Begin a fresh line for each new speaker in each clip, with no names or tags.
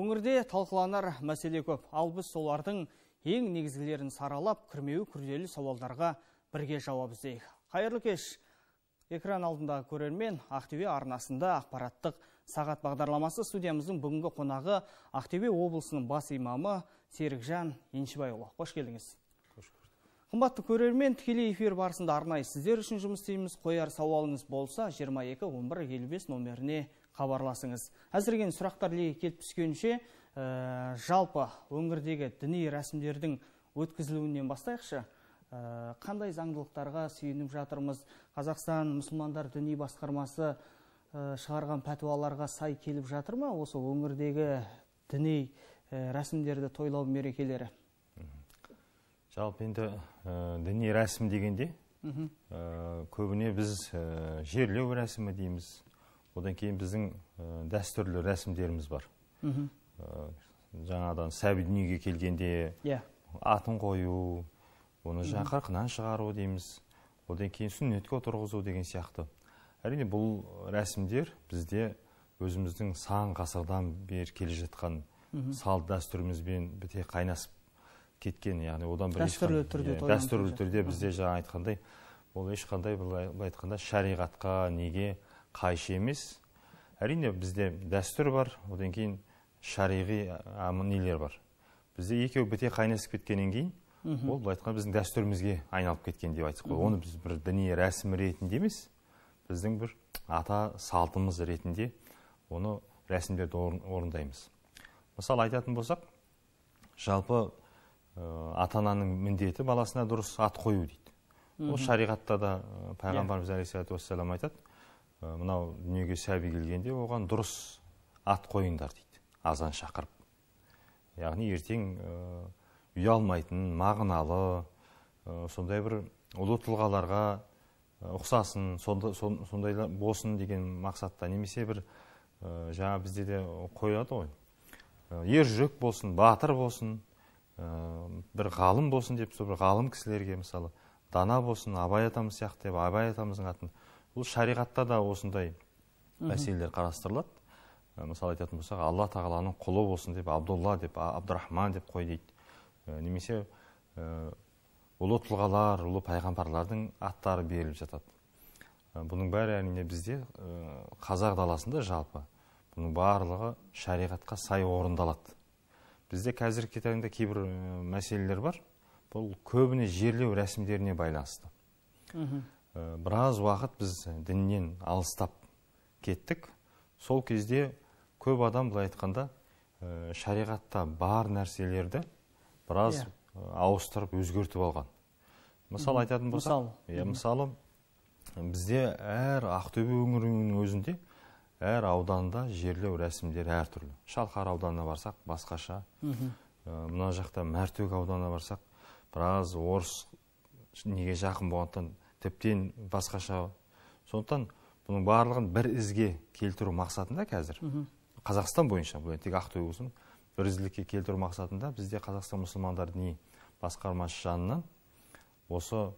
Өңірде талқыланар мәселе көп, ал біз солардың ең негізгілерін саралап, күрмеуі күрделі сауалдарға бірге жауап іздейік. Қайырлы кеш! Экран алдындағы көрермен Ақтөбе арнасында ақпараттық сағат бағдарламасы. Студиямыздың бүгінгі қонағы Ақтөбе облысының бас имамы Серікжан Еншібайұлы. Қош келдіңіз. Қымбатты көрермен, тікелей эфир барысында арнайы сіздер үшін жұмыс істейміз. Қояр сауалыңыз болса 22 11 55 номеріне хабарласыңыз. Әзірген сұрақтар легі келіп түскенше, жалпы өңірдегі діни рәсімдердің өткізілуінен бастайықшы. Қандай заңдылықтарға сүйеніп жатырмыз? Қазақстан мұсылмандар діни басқармасы шығарған пәтуаларға сай келіп жатыр ма? Осы өңірдегі діни рәсімдерді тойлау мерекелері.
Жалпы енді діни рәсім дегенде көбіне біз жерлеу рәсімі дейміз. Одан кейін біздің дәстүрлі рәсімдеріміз бар. Жаңадан сәби дүниеге келгенде атын қою, оны қырқынан шығару дейміз. Одан кейін сүннетке отырғызу деген сияқты. Әрине бұл рәсімдер бізде өзіміздің сан ғасырдан бері келе жатқан салт дәстүрімізбен біте қайнасып кеткен, яғни одан бір
дәстүрлі
түрде бізде жаңа айтқандай, ол ешқандай былай айтқанда шариғатқа неге қайшы емес. Әрине бізде дәстүр бар, одан кейін шариғи нелер бар. Бізде екеуі біте қайнасып кеткеннен кейін, ол былай айтқанда біздің дәстүрімізге айналып кеткен деп айтсақ қой. Оны біз бір діни рәсім ретінде емес, біздің бір ата салтымыз ретінде оны рәсімдерді орындаймыз. Мысалы айтатын болсақ, жалпы ата-ананың міндеті баласына дұрыс ат қою дейді. Ол шариғатта да пайғамбарымыз алейхиссалату вассалам айтады, мынау дүниеге сәби келгенде оған дұрыс ат қойыңдар дейді, азан шақырып. Яғни ертең ұялмайтын, мағыналы, сондай бір ұлы тұлғаларға ұқсасын, сондайлар болсын деген мақсатта, немесе бір жаңа бізде де қояды ғой. Ер жүрек болсын, батыр болсын, бір ғалым болсын деп, бір ғалым кісілерге мысалы дана болсын, Абай атамыз сияқты деп, Абай атамыздың атын. Бұл шариғатта да осындай мәселелер қарастырылады. Мысалы айтатын болсақ, Алла тағаланың құлы болсын деп, Абдулла деп, Абдурахман деп қой дейді. Немесе ұлы тұлғалар, ұлы пайғамбарлардың аттары беріліп жатады. Бұның бәрі әрине бізде қазақ даласында жалпы бұның барлығы шариғатқа сай орындалады. Бізде қазіргі таңда кейбір мәселелер бар. Бұл көбіне жерлеу рәсімдеріне байланысты. Біраз уақыт біз діннен алыстап кеттік. Сол кезде көп адам былай айтқанда шариғатта бар нәрселерді біраз ауыстырып өзгертіп алған. Мысалы айтатын болсақ, мысалы бізде әр Ақтөбе өңірінің өзінде әр ауданда жерлеу рәсімдері әртүрлі. Шалқар ауданына барсақ басқаша, мына жақта Мәртөк ауданына барсақ, біраз орыс неге жақын болғандықтан тіптен басқаша. Сондықтан бұның барлығын бір ізге келтіру мақсатында қазір Қазақстан бойынша, бұл тек Ақтөбе болсын, бір ізлікке келтіру мақсатында бізде Қазақстан мұсылмандар діни басқармасы жанынан осы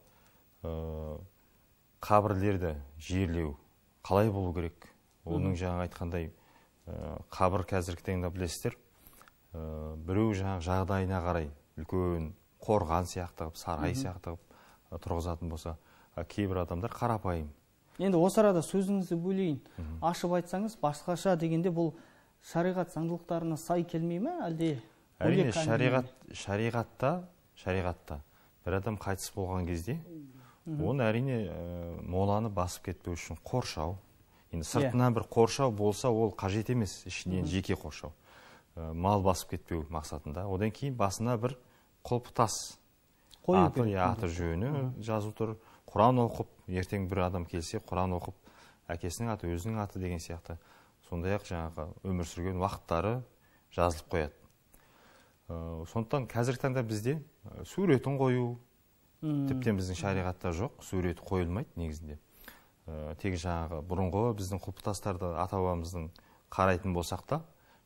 қабірлерді жерлеу қалай болу керек? Оның жаңа айтқандай қабір қазіргі таңда білесіздер, біреу жаңа жағдайына қарай үлкен қорған сияқты, сарай сияқты тұрғызатын болса, кейбір адамдар қарапайым.
Енді осы арада сөзіңізді бөлейін. Ашып айтсаңыз, басқаша дегенде бұл шариғат заңдылықтарына сай келмей ме, әлде?
Әрине, шариғатта бір адам қайтыс болған кезде, оны әрине моланы басып кетпеу үшін қоршау. Енді сыртынан бір қоршау болса, ол қажет емес, ішінен жеке қоршау. Мал басып кетпеу мақсатында. Одан кейін басына бір құлпытас аты жөні жазу тұр. Құран оқып, ертең бір адам келсе, Құран оқып, әкесінің аты, өзінің аты деген сияқты. Сондай-ақ жаңағы өмір сүрген уақыттары жазылып қояды. Сондықтан қазіргі таңда бізде суретін қою, тіптен біздің шариғатта жоқ, суреті қойылмайды негізінде. Тек жаңағы бұрынғы біздің құлпытастарды ата-бабамыздың қарайтын болсақ та,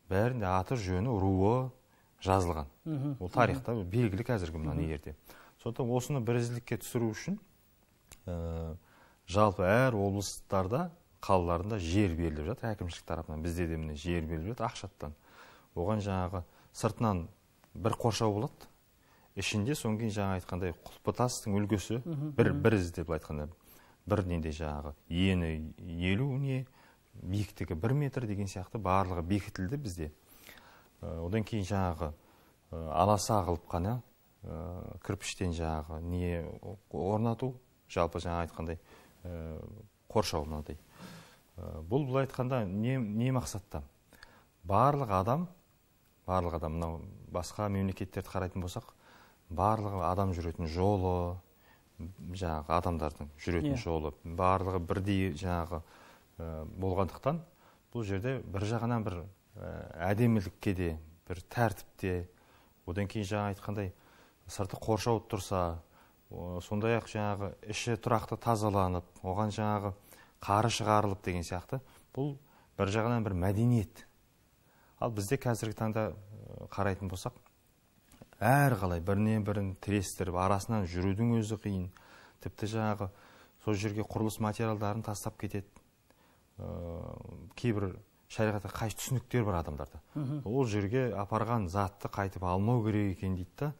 бәрінде аты, жөні, руы жазылған. Ол тарихта белгілі қазіргі мына егерде. Сондықтан осыны бірізділікке түсіру үшін жалпы әр облыстарда, қалаларында жер беріліп жатыр, әкімшілік тарапынан. Бізде де міне жер беріліп жатыр ақшаттан. оған жаңағы сыртынан бір қоршау болады, ішінде содан кейін жаңа айтқандай құлпытастың үлгісі бір із деп айтқанда бір неде жаңағы ені 50 не биіктігі 1 метр деген сияқты барлығы бекітілді бізде. Одан кейін жаңағы аласа қылып қана кірпіштен жаңағы не орнату, жалпы жаңа айтқандай қоршау мынадай. Бұл былай айтқанда не мақсатта? Барлық адам мынау басқа мемлекеттерді қарайтын болсақ, барлығы адам жүретін жолы, жаңағы адамдардың жүретін жолы, барлығы бірдей жаңағы болғандықтан, бұл жерде бір жағынан бір әдемілікке де, бір тәртіпте, одан кейін жаңа айтқандай сырты қоршау тұрса, сондай-ақ жаңағы іші тұрақты тазаланып, оған жаңағы қары шығарылып деген сияқты, бұл бір жағынан бір мәдениет. Ал бізде қазіргі таңда қарайтын болсақ, әр қалай бірінен бірін тірестіріп, арасынан жүрудің өзі қиын. Тіпті жаңағы сол жерге құрылыс материалдарын тастап кетеді. Кейбір шариғатқа қайшы түсініктер бар адамдарда. Ол жерге апарған затты қайтып алмау керек екен дейді да.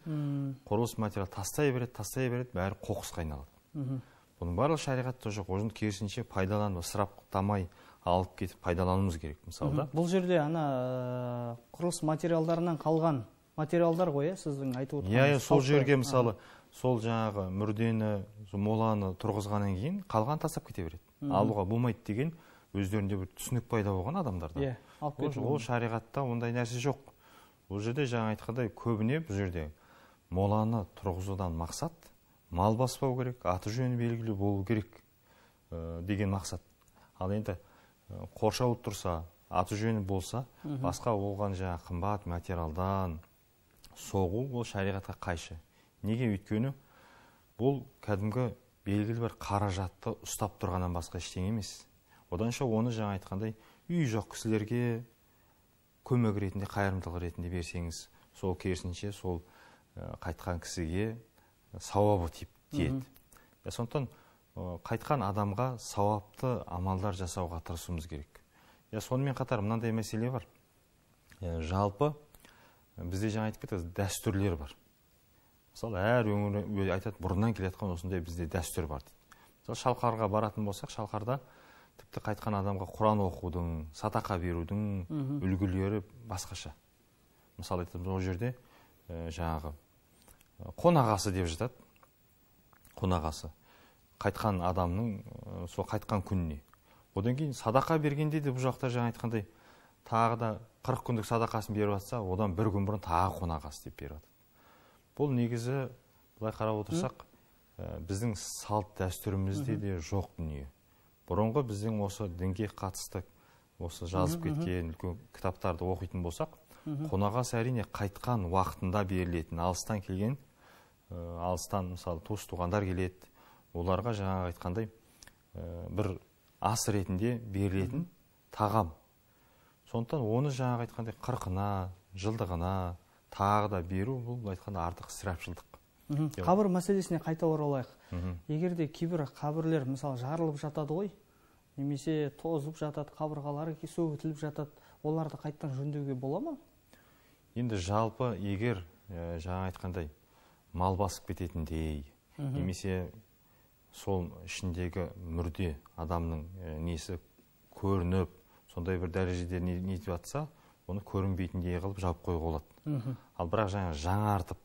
Құрылыс материал тастай береді, бәрі қоқысқа айналады. Бұның барлығы шариғатта жоқ. Оны керісінше пайдаланып, ысыраптамай алып кетіп пайдалануымыз керек, мысалы.
Бұл жерде ана құрылыс материалдарынан қалған материалдар ғой, сіздің айтып отырғаныңыз.
Сол жерге мысалы, сол жаңағы мүрдені, моланы тұрғызғаннан кейін қалған тастап кете береді. Алуға болмайды деген өздерінде бір түсінік пайда болған адамдарда. Ол шариғатта ондай нәрсе жоқ. Бұл жерде жаңа айтқандай көбіне бұл жерде моланы тұрғызудан мақсат мал баспау керек, аты жөні белгілі болу керек деген мақсат. Ал енді қоршау тұрса, аты жөні болса, басқа болған жаңа қымбат материалдан соғу, ол шариғатқа қайшы. Неге? Өйткені бұл кәдімгі белгілі бір қаражатты ұстап тұрғаннан басқа ештеңе емес. Оданша оны жаңа айтқандай үй жоқ кісілерге көмек ретінде, қайырымдылық ретінде берсеңіз, сол керісінше сол қайтқан кісіге сауабы тиеді. Сондықтан қайтқан адамға сауапты амалдар жасауға тырысуымыз керек. Сонымен қатар мынандай мәселе бар. Жалпы бізде жаңа айтып кетті, дәстүрлер бар. Мысалы, әр өңір айтады, бұрыннан келетқан осындай бізде дәстүр бар дейді. Мысалы, шалқарға баратын болсақ, шалқарда тіпті қайтқан адамға Құран оқудың, садақа берудің үлгілері басқаша. Мысалы, айтамыз, ол жерде жаңағы қонағасы деп жатады. Қонағасы. Қайтқан адамның сол қайтқан күніне. Одан кейін садақа бергенде де бұл жақта жаңа айтқандай тағы да 40 күндік садақасын беріп жатса, одан бір күн бұрын тағы қонағасы деп беріп жатады. Бұл негізі былай қарап отырсақ, біздің салт дәстүрімізде де жоқ дүние. Бұрынғы біздің осы дінге қатысты осы жазып кеткен үлкен кітаптарды оқитын болсақ, қонағасы әрине қайтқан уақытында берілетін, алыстан келген, алыстан мысалы туыс туғандар келеді, оларға жаңа айтқандай бір ас ретінде берілетін тағам. Сондықтан оны жаңа айтқандай 40-ына, жылдығына тағы да беру, бұл айтқанда артық ысырапшылдық.
Қабір мәселесіне қайта оралайық. Егерде кейбір қабірлер мысалы жарылып жатады ғой, немесе тозып жатады, қабырғалары сөгітіліп жатады, оларды қайттан жөндеуге бола ма?
Енді жалпы егер жаңа айтқандай мал басып кететіндей, немесе сол ішіндегі мүрде адамның несі көрініп, сондай бір дәрежеде нетіп жатса, оны көрінбейтіндей қылып жауып қоюға болады. Ал бірақ жаңартып,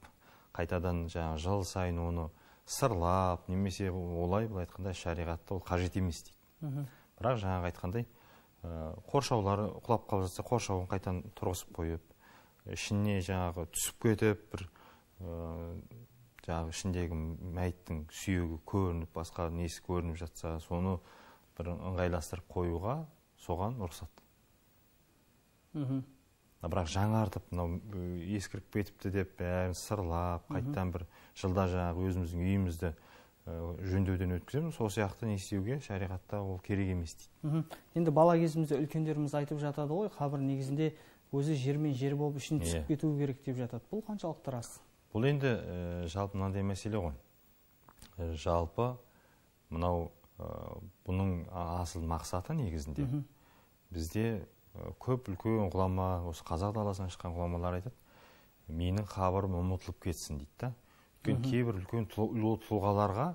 қайтадан жыл сайын оны сырлап, немесе олай бұл айтқанда шариғатта ол қажет емес дейді. Бірақ жаңағы айтқандай қоршаулары құлап қалып жатса, қоршауын қайтадан тұрғызып қойып, ішіне жаңағы түсіп кетіп, бір жаңағы ішіндегі мәйіттің сүйегі көрініп, басқа несі көрініп жатса, соны бір ыңғайластырып қоюға соған рұқсат. Бірақ жаңартып, ескіріп кетіпті деп, бәрін сырлап, қайттан бір жылда жаңағы өзіміздің үйімізді жөндеуден өткіземіз, сол сияқты не істеуге шариғатта ол керек емес дейді.
Енді бала кезімізде үлкендеріміз айтып жатады ғой, қабір негізінде өзі жермен жер болып ішін түсіп кетуі керек деп жатады. Бұл қаншалықты рас?
Бұл енді жалпы мынандай мәселе ғой. Жалпы мынау бұның асыл мақсаты негізінде бізде көп үлкен ғұлама, осы қазақ даласынан шыққан ғұламалар айтады, менің қабірім ұмытылып кетсін дейді да. Өйткені кейбір үлкен ұлы тұлғаларға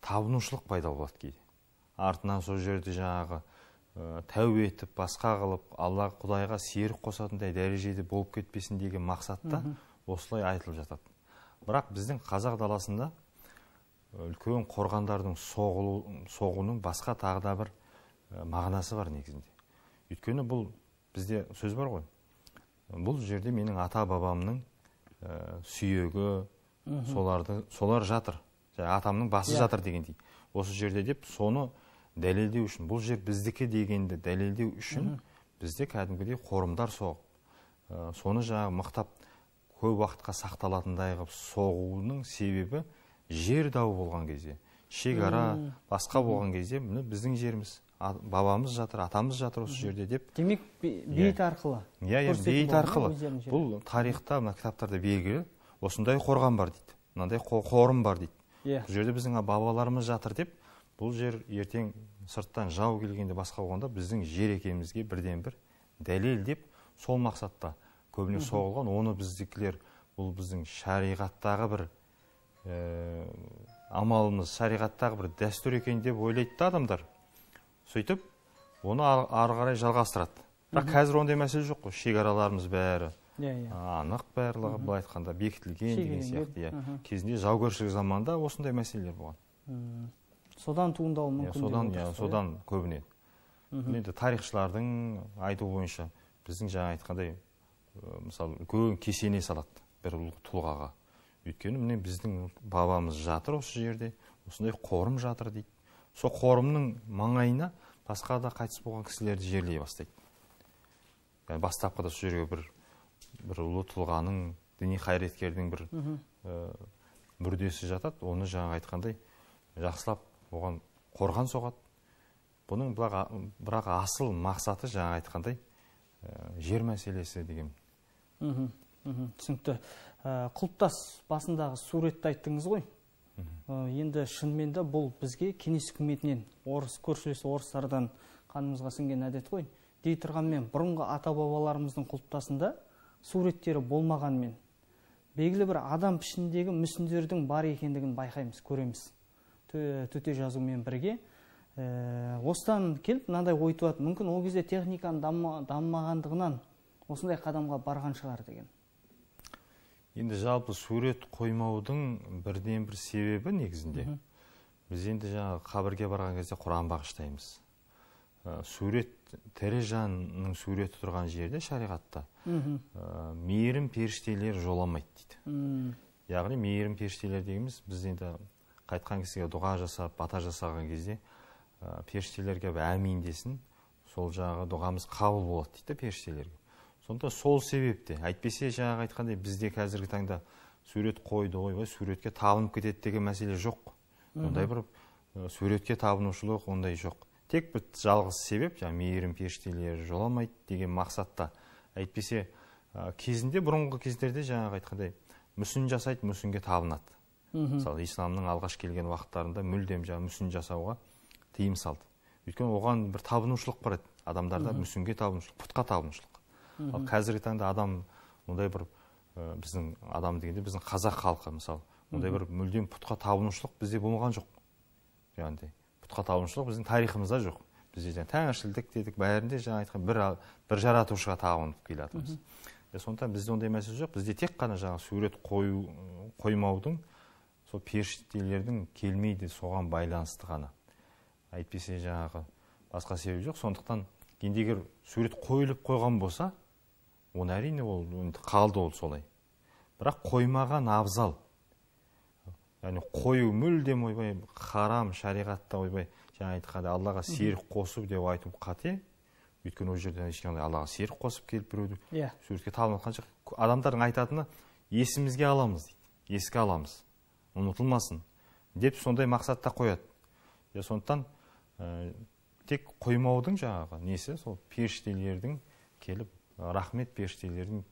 табынушылық пайда болады кейде. Артынан сол жерде жаңағы тәубе етіп, басқа қылып, Алла Құдайға серік қосатындай дәрежеде болып кетпесін деген мақсатта осылай айтылып жатады. Бірақ біздің қазақ даласында үлкен қорғандардың соғуының басқа тағы да бір мағынасы бар негізінде. Өйткені бұл бізде сөз бар ғой. Бұл жерде менің ата бабамның сүйегі, солар жатыр. Атамның басы жатыр дегендей. Осы жерде деп соны дәлелдеу үшін, бұл жер біздікі дегенді дәлелдеу үшін бізде кәдімгідей қорымдар соғып, соны жаңағы мықтап көп уақытқа сақталатындай қылып соғуының себебі жер дауы болған кезде, шекара басқа болған кезде біздің жеріміз, бабамыз жатыр, атамыз жатыр осы жерде деп.
Демек бейіт арқылы.
Бейіт арқылы. Бұл тарихта, кітаптарда белгілі, осындай қорған бар дейді, мынандай қорым бар дейді. Бұл жерде біздің бабаларымыз жатыр деп, бұл жер ертең сырттан жау келгенде басқа болғанда біздің жер екенімізге бірден бір дәлел деп, сол мақсатта көбіне соғылған. Оны біздікілер, бұл біздің шариғаттағы бір амалымыз, шариғаттағы бір дәстүр екен деп ойлайды адамдар. Сөйтіп, оны ары қарай жалғастырады. Бірақ қазір ондай мәселе жоқ қой, шекараларымыз бәрі анық, барлығы былай айтқанда бекітілген деген сияқты. Кезінде жаугершілік заманда осындай мәселелер болған.
Содан туындауы мүмкін.
Содан көбіне. Енді тарихшылардың айтуы бойынша біздің жаңа айтқандай, мысалы, үлкен кесене салады бір тұлғаға. Өйткені міне біздің бабамыз жатыр осы жерде, осындай қорым жатыр дейді. Сол қорымның маңайына басқа да қайтыс болған кісілерді жерлей бастайды. Бастапқыда сол жерге бір ұлы тұлғаның, діни қайраткердің бір мүрдесі жатады, оны жаңа айтқандай жақсылап оған қорған соғады. Бұның бірақ асыл мақсаты жаңа айтқандай жер мәселесі деген.
Түсінікті. Құлпытас басындағы суретті айттыңыз ғой. Енді шынымен де бұл бізге кеңес үкіметінен, көршілес орыстардан қанымызға сіңген әдет қой. Дей тұрғанмен, бұрынғы ата-бабаларымыздың құлпытасында суреттері болмағанмен, белгілі бір адам пішіндегі мүсіндердің бар екендігін байқаймыз, көреміз. Төте жазумен бірге. Осыдан келіп, мынандай ой туады, мүмкін ол кезде техниканың дамымағандығынан осындай қадамға барған шығар деген.
Енді жалпы сурет қоймаудың бірден бір себебі негізінде. Біз енді жаңағы қабірге барған кезде Құран бағыштаймыз. Сурет, тірі жанның суреті тұрған жерде шариғатта мейірім періштелер жоламайды дейді. Яғни мейірім періштелер дегеніміз, біз енді қайтқан кісіге дұға жасап, бата жасаған кезде періштелерге әмин десін, сол жағы дұғамыз қабыл болады дейді періштелерге. Сонда сол себепте, әйтпесе жаңағы айтқандай бізде қазіргі таңда сурет қойды, ойбай суретке табынып кетеді деген мәселе жоқ. Ондай бір суретке табынушылық ондай жоқ. Тек бір жалғыз себеп, мейірім періштелері жоламайды деген мақсатта. Әйтпесе кезінде, бұрынғы кездерде жаңағы айтқандай мүсін жасайды, мүсінге табынады. Мысалы, исламның алғаш келген уақыттарында мүлдем мүсін жасауға тыйым салды. Өйткені оған бір табынушылық бар еді. Адамдарда мүсінге табынушылық, пұтқа табынушылық. Ал қазіргі таңда адам, ондай бір біздің адам дегенде біздің қазақ халқы, мысалы, ондай бір мүлдем пұтқа табынушылық бізде болмаған жоқ. Яғни пұтқа табынушылық біздің тарихымызда жоқ. Бізде тәңіршілдік дедік, бәрінде жаңа айтқан бір жаратушыға табынып келе жатырмыз. Сондықтан бізде ондай мәселе жоқ. Бізде тек қана жаңа сурет қоймаудың, сол періштелердің келмейді соған байланысты ғана. Әйтпесе жаңағы басқа себеп жоқ. Сондықтан енді егер сурет қойылып қойған болса, оны әрине ол қалды ол солай. Бірақ қоймаған абзал. Яғни қою мүлдем ойбай харам, шариғатта ойбай жаңа айтқанда Аллаға серік қосып деп айту қате. Өйткені ол жерден ешқандай Аллаға серік қосып келіп біреуді суретке табынатқан жоқ. Адамдардың айтатыны есімізге аламыз дейді. Еске аламыз. Ұмытылмасын деп сондай мақсатта қояды. Сондықтан тек қоймаудың жаңағы несі, сол періштелердің келіп, рахмет періштелердің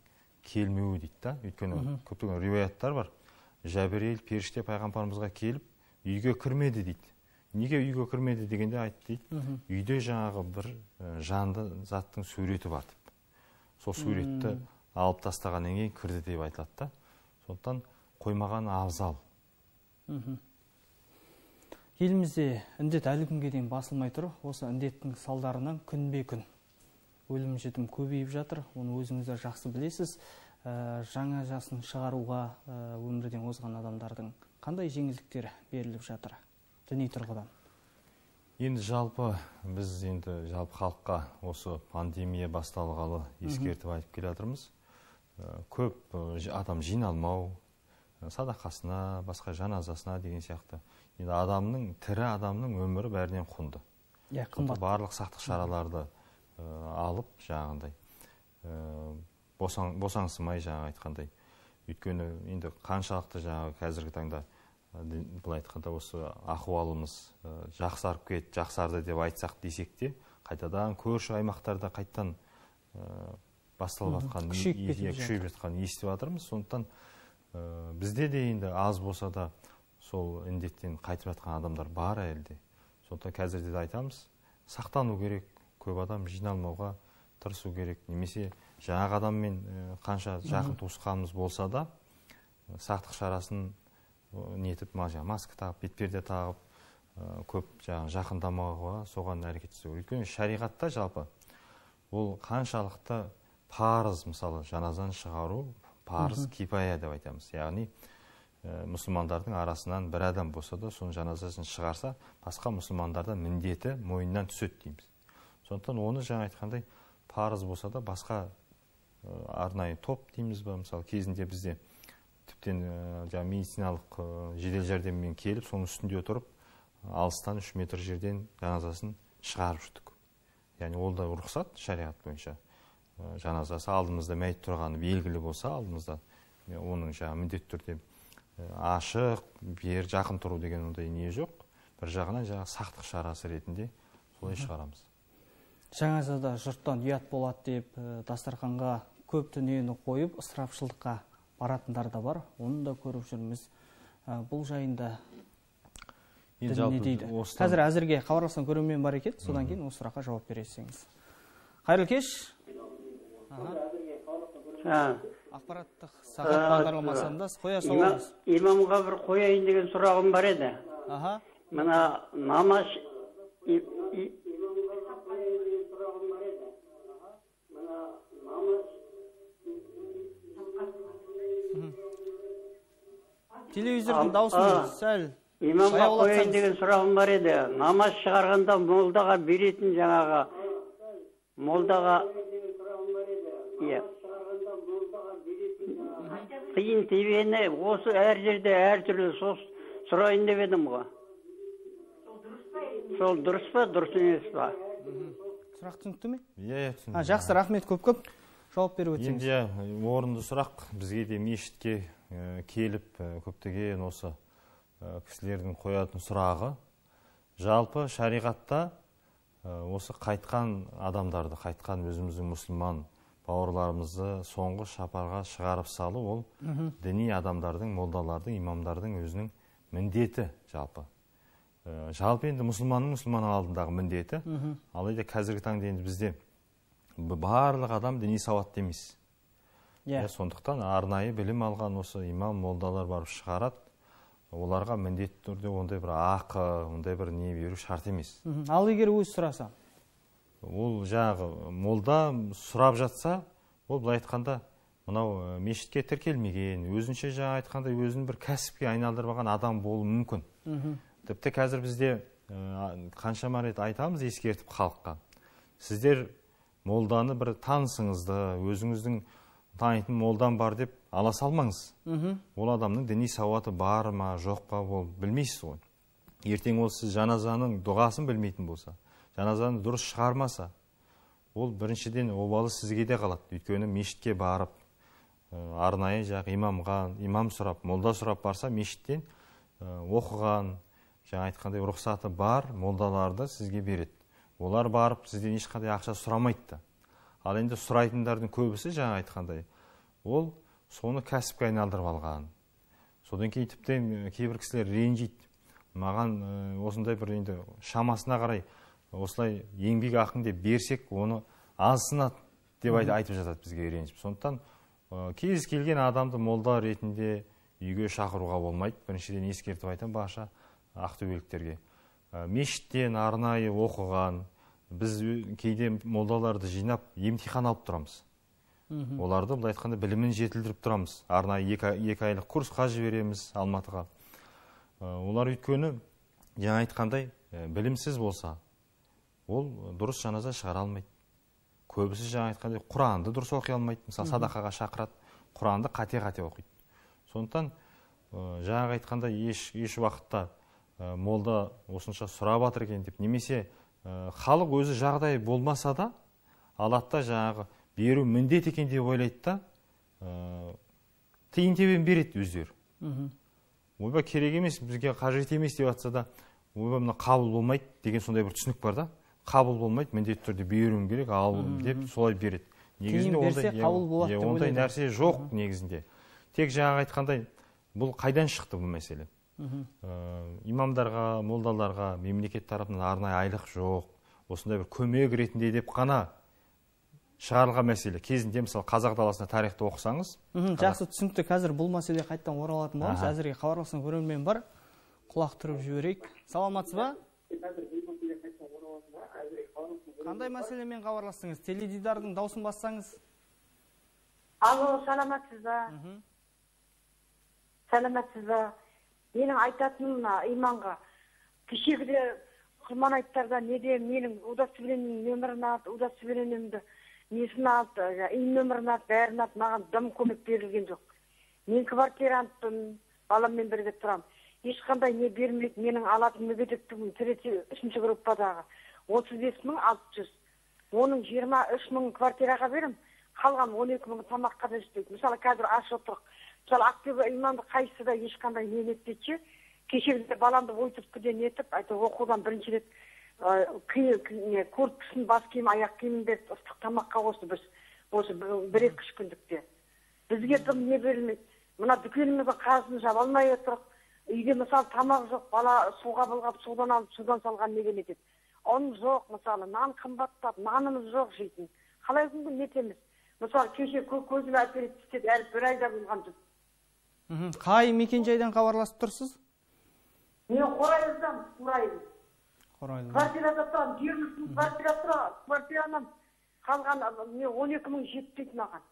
келмеуі дейді да. Өйткені көптеген риуаяттар бар. Жәбірейіл періште пайғамбарымызға келіп, үйге кірмеді дейді. неге үйге кірмеді дегенде айтты дейді, үйде жаңағы бір жанды заттың суреті бар деп. Сол суретті алып тастағаннан кейін кірді деп айтылады да. Сондықтан қоймаған абзал.
Елімізде індет әлі күнге дейін басылмай тұр. Осы індеттің салдарынан күнбе күн өлім жітім көбейіп жатыр. Оны өзіңіздер жақсы білесіз. Жаңа жасын шығаруға өмірден озған адамдардың қандай жеңілдіктер беріліп жатыр діни тұрғыдан?
Енді жалпы халыққа осы пандемия басталғалы ескертіп айтып келе жатырмыз. Көп адам жиналмау, садақасына, басқа жаназасына деген сияқты. Енді тірі адамның өмірі бәрінен құнды. Барлық сақтық шараларды алып, жаңағындай босаңсымай, жаңа айтқандай. Өйткені енді қаншалықты жаңағы қазіргі таңда бұл айтқанда осы ахуалымыз жақсарды деп айтсақ десек те, қайтадан көрші аймақтарда қайттан басталып жатқан, күшейіп жатқан естіп жатырмыз. Сондықтан бізде де енді аз болса да сол індеттен қайтып жатқан адамдар бар әлде. Сондықтан қазірде де айтамыз, сақтану керек, көп адам жиналмауға тырысу керек. Немесе жаңағы адаммен қанша жақын туысқанымыз болса да, сақтық шарасын нетіп, маска тағып, бетперде тағып, көп жақындамауға соған әрекет жасау. Өйткені шариғатта жалпы ол қаншалықты парыз, мысалы жаназаны шығару парыз кипая деп айтамыз. Яғни мұсылмандардың арасынан бір адам болса да, соның жаназасын шығарса, басқа мұсылмандардан міндеті мойнынан түседі дейміз. Сондықтан оны жаңа айтқандай парыз болса да, басқа арнайы топ дейміз ба, мысалы кезінде бізде тіптен медициналық жедел жәрдеммен келіп, соның үстінде отырып, алыстан 3 метр жерден жаназасын шығарып жүрдік. Яғни ол да рұқсат шариғат бойынша. Жаназасы алдымызда мәйіт тұрғаны белгілі болса, алдымызда оның міндетті түрде ашық, бер жақын тұру деген ондай не жоқ. Бір жағынан сақтық шарасы ретінде солай шығарамыз.
Жаназада жұрттан ұят болады деп, дастарханға көп дүниені қойып, ысырапшылдыққа баратындар да бар. Оны да көріп жүрміз. Бұл жайында не дейді? Қазір әзірге хабарласқан көрермен бар екен, содан кейін осы сұраққа жауап бересеңіз. Қайырлы кеш. Ақпараттық сағат бағдарламасында қоя салыңыз.
Имамға бір қояйын деген сұрағым бар еді. Мына намаз
телевизордың дауысын сәл
имамға қояйын деген сұрағым бар еді. Намаз шығарғанда молдаға беретін жаңағы молдаға қиын тибені осы әр жерде әр түрлі сұрайын деп едім ғой. Сол дұрыс па, дұрыс емес па?
Сұрақ түсінікті ме?
Түсінікті.
Жақсы, рахмет, көп жауап беріп өтсеңіз.
Енді орынды сұрақ. Бізге де мешітке келіп көптеген осы кісілердің қоятын сұрағы. Жалпы шариғатта осы қайтқан адамдарды, қайтқан өзіміздің мұсылман бауырларымызды соңғы шапарға шығарып салу, ол діни адамдардың, молдалардың, имамдардың өзінің міндеті жалпы. Жалпы енді мұсылман алдындағы міндеті. Алайда қазіргі таңда енді бізде барлық адам діни сауатты емес. Сондықтан арнайы білім алған осы имам, молдалар барып шығарады. Оларға міндетті түрде ондай бір ақы, ондай бір не беру шарт емес.
Ал егер өз сұраса?
Ол жаңағы молда сұрап жатса, ол былай айтқанда мынау мешітке тіркелмеген, өзінше жаңа айтқанда өзін бір кәсіпке айналдырмаған адам болуы мүмкін. Тіпті қазір бізде қаншама рет айтамыз ескертіп халыққа. Сіздер молданы бір танысыңызды, өзіңіздің танитын молдан бар деп ала салмаңыз. Ол адамның діни сауаты бар ма, жоқ па, ол білмейсіз ғой. Ертең ол сіз жаназаның дұғасын білмейтін болса, жаназаны дұрыс шығармаса, ол біріншіден обалы сізге де қалады. Өйткені мешітке барып, арнайы имам сұрап, молда сұрап барса, мешіттен оқыған, жаңа айтқандай рұқсаты бар молдаларды сізге береді. Олар барып сізден ешқандай ақша сұрамайды. Ал енді сұрайтындардың көбісі жаңа айтқандай, ол соны кәсіпке айналдырып алған. Содан кейін тіптен кейбір кісілер ренжиді. маған осындай бір енді шамасына қарай осылай еңбек ақын деп берсек, оны азсынады деп айтып жатады бізге ренжіп. Сондықтан кез келген адамды молда ретінде үйге шақыруға болмайды. Біріншіден ескертіп айтам барша ақтөбеліктерге. Мешіттен арнайы оқыған, біз кейде молдаларды жинап емтихан алып тұрамыз. Оларды бұл айтқанда білімін жетілдіріп тұрамыз. Арнайы 2 айлық курсқа жібереміз Алматыға. Олар өйткені жаңа айтқандай білімсіз болса, ол дұрыс жаназа шығара алмайды. Көбісі жаңа айтқандай Құранды дұрыс оқи алмайды. Мысалы садақаға шақырады, Құранды қате-қате оқиды. Сондықтан жаңа айтқанда еш уақытта молда осынша сұрап жатыр екен деп, немесе халық өзі жағдай болмаса да, алатта жаңағы беру міндет екен деп ойлайды да, тиын тебен береді өздері. Ойбай керек емес, бізге қажет емес деп жатса да, ойбай мына қабыл болмайды деген сондай бір түсінік бар да. Қабыл болмайды, міндетті түрде беруім керек, ал деп солай береді.
Тиын берсе қабыл болады деп ойлайды.
Ондай нәрсе жоқ негізінде. Тек жаңа айтқандай, бұл қайдан шықты бұл мәселе? Имамдарға, молдаларға мемлекет тарапынан арнайы айлық жоқ, осындай бір көмек ретінде деп қана шығарылған мәселе. Кезінде мысалы қазақ даласында тарихты оқысаңыз,
жақсы түсінікті. Қазір бұл мәселе қайттан оралатын боламыз. Әзірге хабарласқан көрермен бар. Құлақ түріп жіберейік. Саламатсыз ба? Қандай мәселемен хабарластыңыз? Теледидардың даусын бассаңыз.
Алло, саламатсыз ба? Саламатсыз ба? Менің айтатыным иманға. Кешегіде құрман айттарда неде менің удостоверением нөмірін алды, удостоверениемді несін алды, үй нөмірін алды, бәрін алды, маған дым көмек берілген жоқ. Мен квартирантпын, баламмен бірге тұрам. Ешқандай не бермейді, менің алатын мүгедектігім 3-ші группадағы 35.600. Оның 23.000 квартираға берім, қалған 12.000 тамаққа да жетпейді. Мысалы, қазір аш отырық. Мысалы, Ақтөбе имамды қайсыда ешқандай не етпейді. Кешегіде баламды ойтыртқыден етіп, оқудан бірінші рет көрпісін, бас киім, аяқ киімін беріп, ыстық тамаққа қосты біз. Осы 1-2 күндікте. Бізге дым не берілмейді. Мына дүкеніміздің қарызын жаба алмай отырық. Үйде мысалы тамақ жоқ, бала суға былғап, судан алып, судан салған неге нетеді. Он жоқ, мысалы, нан қымбаттап, нанымыз жоқ жейтін. Қалай күнгі нетеміз? Мысалы, кеше көзіме әперіп істеді, әлі 1 айда болған жоқ.
Қай мекенжайдан хабарласып тұрсыз?
Мен Қорайлыдан,
Қорайлы.
Квартирада тұрам, 20.000 квартира тұрам, квартиранан қалған 12.000 жетпейді маған.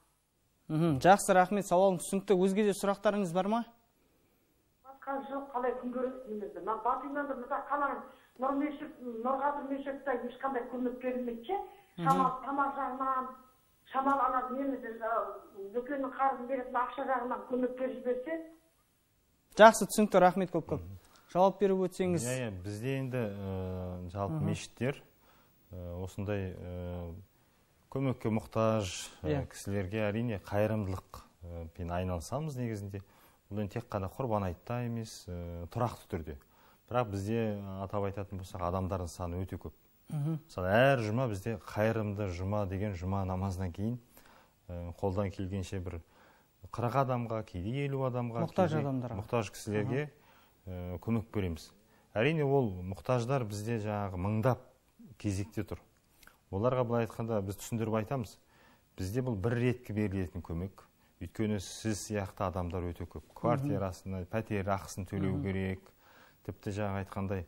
Жақсы, рахмет, сауалың түсінікті. Өзге де сұрақтарыңыз бар ма?
Басқа жоқ, қалай күн көресіңізді. Мен Батыйнан да мұта қаланың Нұрғадыр мешітті ешқандай көмек берілмейді. Шамал тамақ жағынан, шамал немізді дүкеннің қарызын беретін ақша жағынан көмек беріп берсе.
Жақсы, түсінікті, рахмет көп-көп. Жауап беріп өтсеңіз.
Бізде енді жалпы мешіттер осындай көмекке мұқтаж кісілерге әрине қайырымдылықпен айналысамыз негізінде. Бұл енді тек қана құрбан айтта емес, тұрақты түрде. Бірақ бізде атап айтатын болсақ, адамдардың саны өте көп. Мысалы, әр жұма бізде қайырымды жұма деген жұма намазынан кейін қолдан келгенше бір 40 адамға, кейде 50 адамға, мұқтаж кісілерге көмек береміз. Әрине ол мұқтаждар бізде жаңағы мыңдап кезекте тұр. Оларға былай айтқанда біз түсіндіріп айтамыз. Бізде бұл бір ретке берілетін көмек. Өйткені сіз сияқты адамдар өте көп. Квартирасына, пәтер ақысын төлеу керек. Тіпті жаңа айтқандай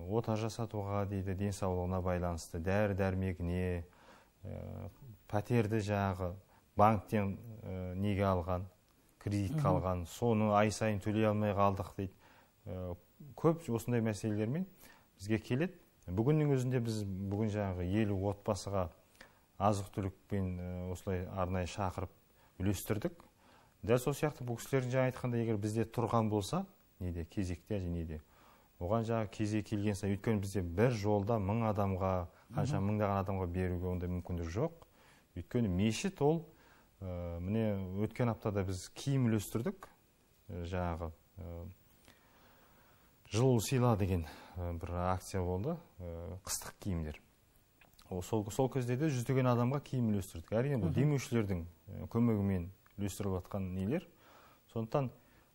ота жасатуға дейді, денсаулығына байланысты, дәрі-дәрмегіне, пәтерді жаңағы банктен неге алған, кредитке алған, соны ай сайын төлей алмай қалдық дейді. Көп осындай мәселелермен бізге келеді. Бүгіннің өзінде біз бүгін жаңағы 50 отбасыға азық-түлікпен осылай арнайы шақырып үлестірдік. Дәл сол сияқты бұл кісілердің жаңа айтқанда, егер бізде тұрған болса, неде кезекте неде, оған жаңа кезек келген сайын, өйткені бізде бір жолда 1000 адамға, қанша мыңдаған адамға беруге ондай мүмкіндік жоқ. Өйткені мешіт ол, міне өткен аптада біз киім үлестірдік, жаңағы жыл сыйла деген бір акция болды, қыстық киімдер. Сол кезде де 100-деген адамға киім үлестірдік. Әрине бұл демеушілердің көмегімен үлестіріп жатқан нелер. Сондықтан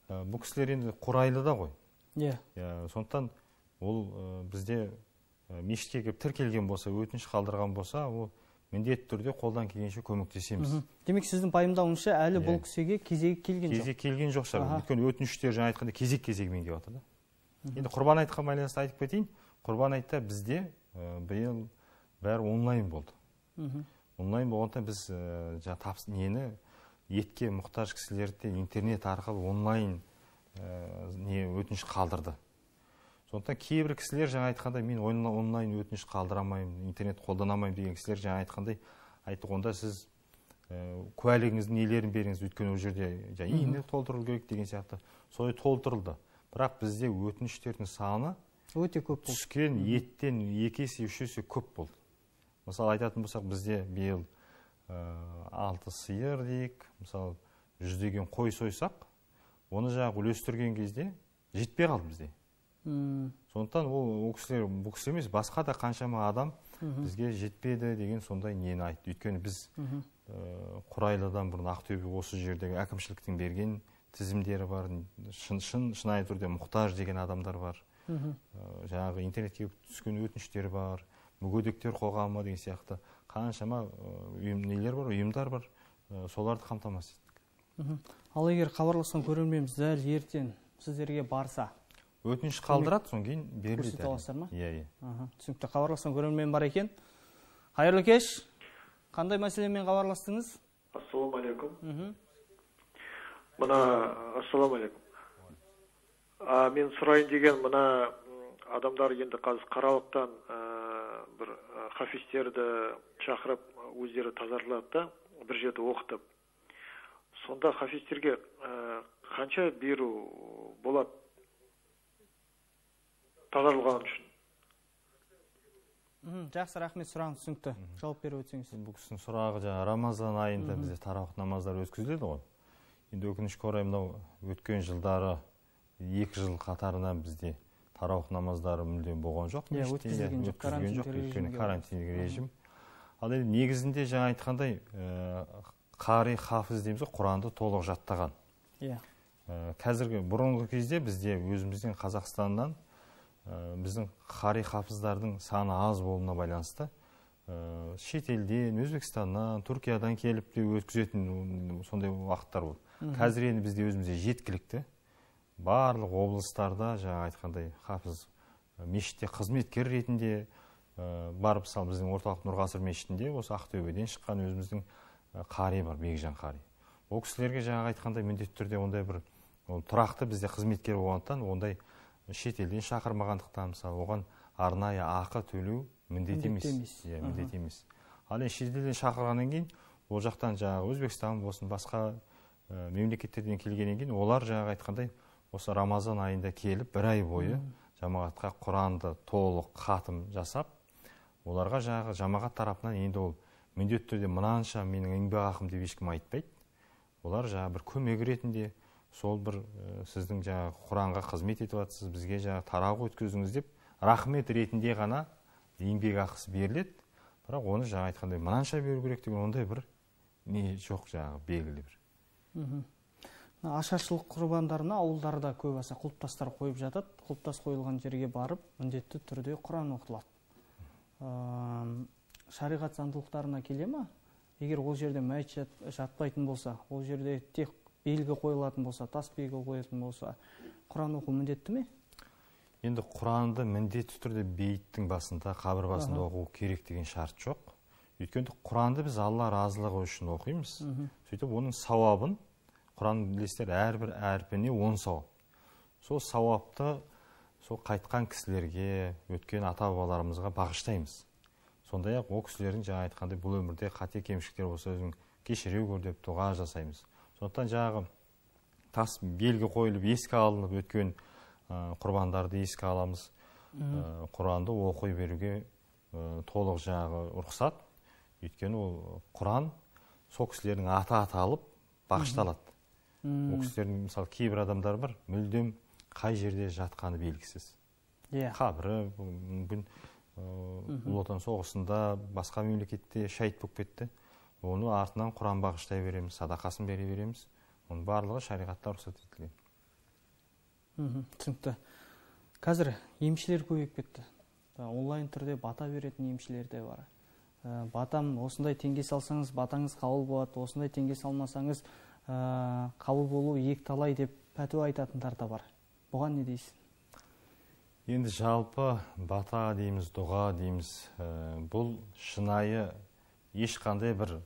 бұл кісілер енді Қорайлыда ғой. Сондықтан ол бізде мешітке келіп тіркелген болса, өтініш қалдырған болса, ол міндетті түрде қолдан келгенше көмектесеміз.
Демек, сіздің пайымдауыңызша әлі бұл кісіге кезегі келген жоқ?
Кезек келген жоқ шығар. Өйткені өтініштер жаңа айтқанда кезек-кезегімен келіп жатыр да. Енді құрбан айтқа байланысты айтып кетейін. Құрбан айтта бізде биыл бәрі онлайн болды. Онлайн болғанда біз нені етке мұқтаж кісілерді интернет арқылы онлайн өтініш қалдырды. Сондықтан кейбір кісілер жаңа айтқанда мен онлайн өтініш қалдырамаймын, интернет қолданамаймын деген кісілер жаңа айтқандай айтты, онда сіз куәлігіңіздің нелерін беріңіз, өйткені ол жерде ине толтырылу керек деген сияқты. Солай толтырылды. Бірақ бізде өтініштердің саны
өте көп болды.
Түскен еттен 2 есе 3 есе көп болды. Мысалы айтатын болсақ, бізде биыл 6 сиыр дейік, мысалы 100-деген қой сойсақ, оны жаңағы үлестірген кезде жетпей қалды бізде. Сондықтан ол кісілер, бұл кісі емес, басқа да қаншама адам бізге жетпеді деген сондай нені айтты. Өйткені біз Құрайлыдан бұрын Ақтөбе осы жердегі әкімшіліктің берген тізімдері бар, шынайы түрде мұқтаж деген адамдар бар. Жаңағы интернетке түскен өтініштер бар, мүгедектер қоғамы деген сияқты қаншама ұйымдар бар, соларды қамтамасыз еттік.
Ал егер хабарласқан көрерменіміз дәл ертең сіздерге барса,
өтініш қалдырады, соң кейін беріледі.
Көрсете аласыздар ма?
Иә.
Түсінікті. Хабарласқан көрермен бар екен. Қайырлы кеш. Қандай мәселемен хабарластыңыз?
Ассалаумағалейкум. Ассаламағалейкум. Мен сұрайын деген, мына адамдар енді қазір Қаралықтан бір хафизтерді шақырып, өздері тазартылады да, бір жерде оқытып. Сонда хафизтерге қанша беру болады тазарылған үшін?
Жақсы, рахмет, сұрағыңыз түсінікті. Жауап беріп өтсеңіз.
Бұл кісінің сұрағы жаңа Рамазан айында бізде тарауық намаздар өткізіледі ғой. Енді өкінішке орай мынау өткен жылдары 2 жыл қатарынан бізде тарауық намаздары мүлдем болған жоқ.
Өткізілген жоқ,
өйткені карантиндік режим. Ал енді негізінде жаңа айтқандай қари хафиз дейміз ғой, Құранды толық жаттаған. Қазіргі бұрынғы кезде бізде өзіміздің Қазақстаннан біздің қари хафиздардың саны аз болуына байланысты шетелден, Өзбекстаннан, Түркиядан келіп те өткізетін сондай уақыттар болды. Қазір енді бізде өзімізде жеткілікті. Барлық облыстарда жаңа айтқандай хафиз мешітте қызметкер ретінде барып, мысалы біздің орталық Нұрғасыр мешітінде осы Ақтөбеден шыққан өзіміздің қари бар, Бекжан қари. Ол кісілерге жаңа айтқандай міндетті түрде ондай бір тұрақты бізде қызметкер болғандықтан ондай шетелден шақырмағандықтан, мысалы оған арнайы ақы төлеу міндет емес. Ал шетелден шақырғаннан кейін ол жақтан жаңағы Өзбекстан болсын, басқа мемлекеттерден келгеннен кейін олар жаңағы айтқандай осы Рамазан айында келіп, 1 ай бойы жамағатқа Құранды толық қатым жасап, оларға жаңағы жамағат тарапынан енді ол міндетті түрде мынанша менің еңбек ақым деп ешкім айтпайды. Олар жаңағы бір көмек ретінде сол бір сіздің жаңағы Құранға қызмет етіп жатсыз, бізге жаңағы тарауық өткіздіңіз деп рахмет ретінде ғана еңбек ақысы беріледі. Бірақ оны жаңа айтқандай мынанша беру керек деген ондай бір не жоқ, жаңағы белгілі бір.
Ашаршылық құрбандарына ауылдарда көбісі құлпытастар қойып жатады. Құлпытас қойылған жерге барып, міндетті түрде Құран оқытылады. Шариғат заңдылықтарына келе ма? Егер ол жерде мәйіт жатпайтын болса, ол жерде тек белгі қойылатын болса, тас белгі қойылатын болса, Құран оқу міндетті ме?
Енді Құранды міндетті түрде бейіттің басында, қабір басында оқу керек деген шарт жоқ. Өйткені Құранды біз Алла разылығы үшін оқимыз. Сөйтіп оның сауабын, Құран білесіздер, әрбір әрпіне 10 сауап. Сол сауапты сол қайтқан кісілерге, өткен ата-бабаларымызға бағыштаймыз. Сондай-ақ ол кісілердің жаңа айтқандай бұл өмірде қате кемшіліктер болса өзін кешіре көр деп дұға жасаймыз. Сондықтан жаңағы тас белгі қойылып, еске алынып өткен құрбандарды еске аламыз. Құранды оқи беруге толық жаңағы рұқсат. Өйткені ол Құран сол кісілердің аты аталып бағышталады. Ол кісілердің мысалы кейбір адамдар бар, мүлдем қай жерде жатқаны белгісіз. Қабірі мүмкін Ұлы Отан соғысында басқа мемлекетте шәйіт болып кетті. Оны артынан Құран бағыштай береміз, садақасын бере береміз. Оның барлығы шариғатта рұқсат етілген.
Түсінікті. Қазір емшілер көбейіп кетті. Онлайн түрде бата беретін емшілер де бар. Батам осындай теңге салсаңыз батаңыз қабыл болады, осындай теңге салмасаңыз қабыл болу екталай деп пәтуа айтатындар да бар. Бұған не дейсіз?
Енді жалпы бата дейміз, дұға дейміз, бұл шынайы ешқандай бір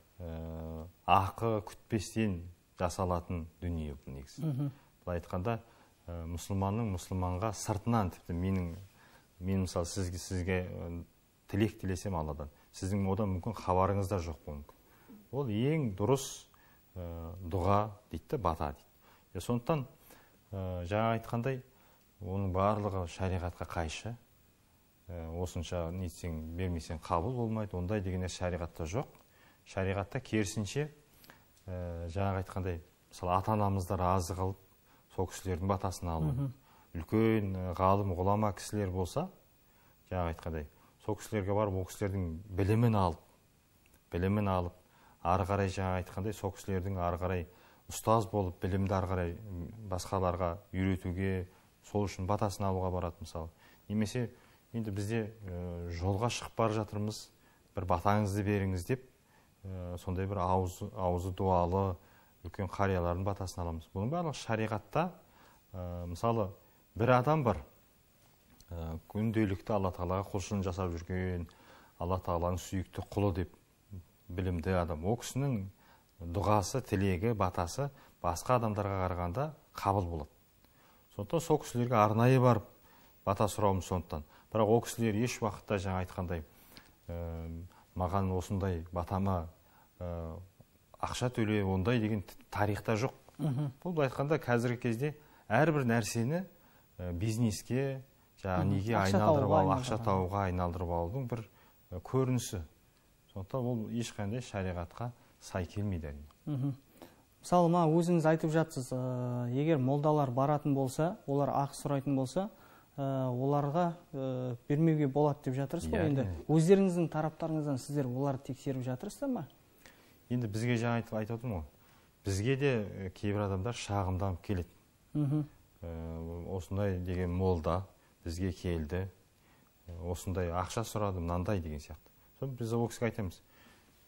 ақы күтпестен жасалатын дүние бұл негізі. Бұл айтқанда мұсылманның мұсылманға сыртынан, тіпті мен мысалы сізге тілек тілесем Алладан, сіздің одан мүмкін хабарыңыз да жоқ мүмкін. Ол ең дұрыс дұға дейді, бата дейді. Сондықтан жаңа айтқандай, оның барлығы шариғатқа қайшы. Осынша нетсең, бермесең қабыл болмайды, ондай деген шариғатта жоқ. Шариғатта керісінше жаңа айтқандай, мысалы ата-анамыздар разы қылып, сол кісілердің батасын алу. Үлкен ғалым, ғұлама кісілер болса, жаңа айтқандай, сол кісілерге барып, ол кісілердің білімін алып, ары қарай жаңа айтқандай, сол кісілердің ары қарай ұстаз болып, білімді ары қарай басқаларға үйретуге, сол үшін батасын алуға барады мысалы. Немесе енді бізде жолға шығып бара жатырмыз, бір батаңызды беріңіз деп, сондай бір аузы дуалы үлкен қариялардың батасын аламыз. Бұның барлығы шариғатта, мысалы, бір адам бар, күнделікті Алла Тағалаға құлшылық жасап жүрген, Алла Тағаланың сүйікті құлы деп білімді адам. Ол кісінің дұғасы, тілегі, батасы басқа адамдарға қарағанда қабыл болады. Сондықтан сол кісілерге арнайы барып бата сұрауымыз сондықтан. Бірақ ол кісілер еш уақытта жаңа айтқандай, маған осындай батама ақша төле, ондай деген тарихта жоқ. Бұл айтқанда қазіргі кезде әрбір нәрсені бизнеске, неге айналдырып алу, ақша тауға айналдырып алудың бір көрінісі. Сондықтан ол ешқандай шариғатқа сай келмейді.
Мысалы, өзіңіз айтып жатсыз, егер молдалар баратын болса, олар ақы сұрайтын болса, оларға бермеуге болады деп жатырсыз ғой. Енді өздеріңіздің тараптарыңыздан сіздер оларды тексеріп жатырсыздар ма?
Енді бізге жаңа айтып отырмын ғой. Бізге де кейбір адамдар шағымданып келеді. Осындай деген молда бізге келді, осындай ақша сұрады, мынандай деген сияқты. Сол біз ол кісіге айтамыз,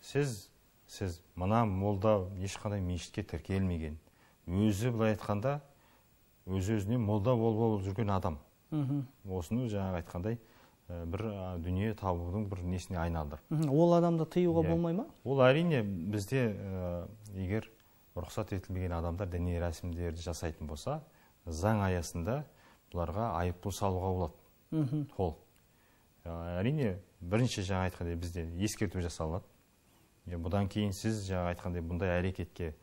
сіз мына молда ешқандай мешітке тіркелмеген, өзі былай айтқанда өз-өзіне молда болып жүрген адам. Осыны жаңа айтқандай бір дүние табудың бір несіне айналдыр.
Ол адамды тыюға болмай ма?
Ол әрине бізде егер рұқсат етілмеген адамдар діни рәсімдерді жасайтын болса, заң аясында бұларға айыппұл салуға болады. Толық. Әрине бірінші жаңа айтқандай бізде ескерту жасалады. Бұдан кейін сіз жаңа айтқандай бұндай әрекетке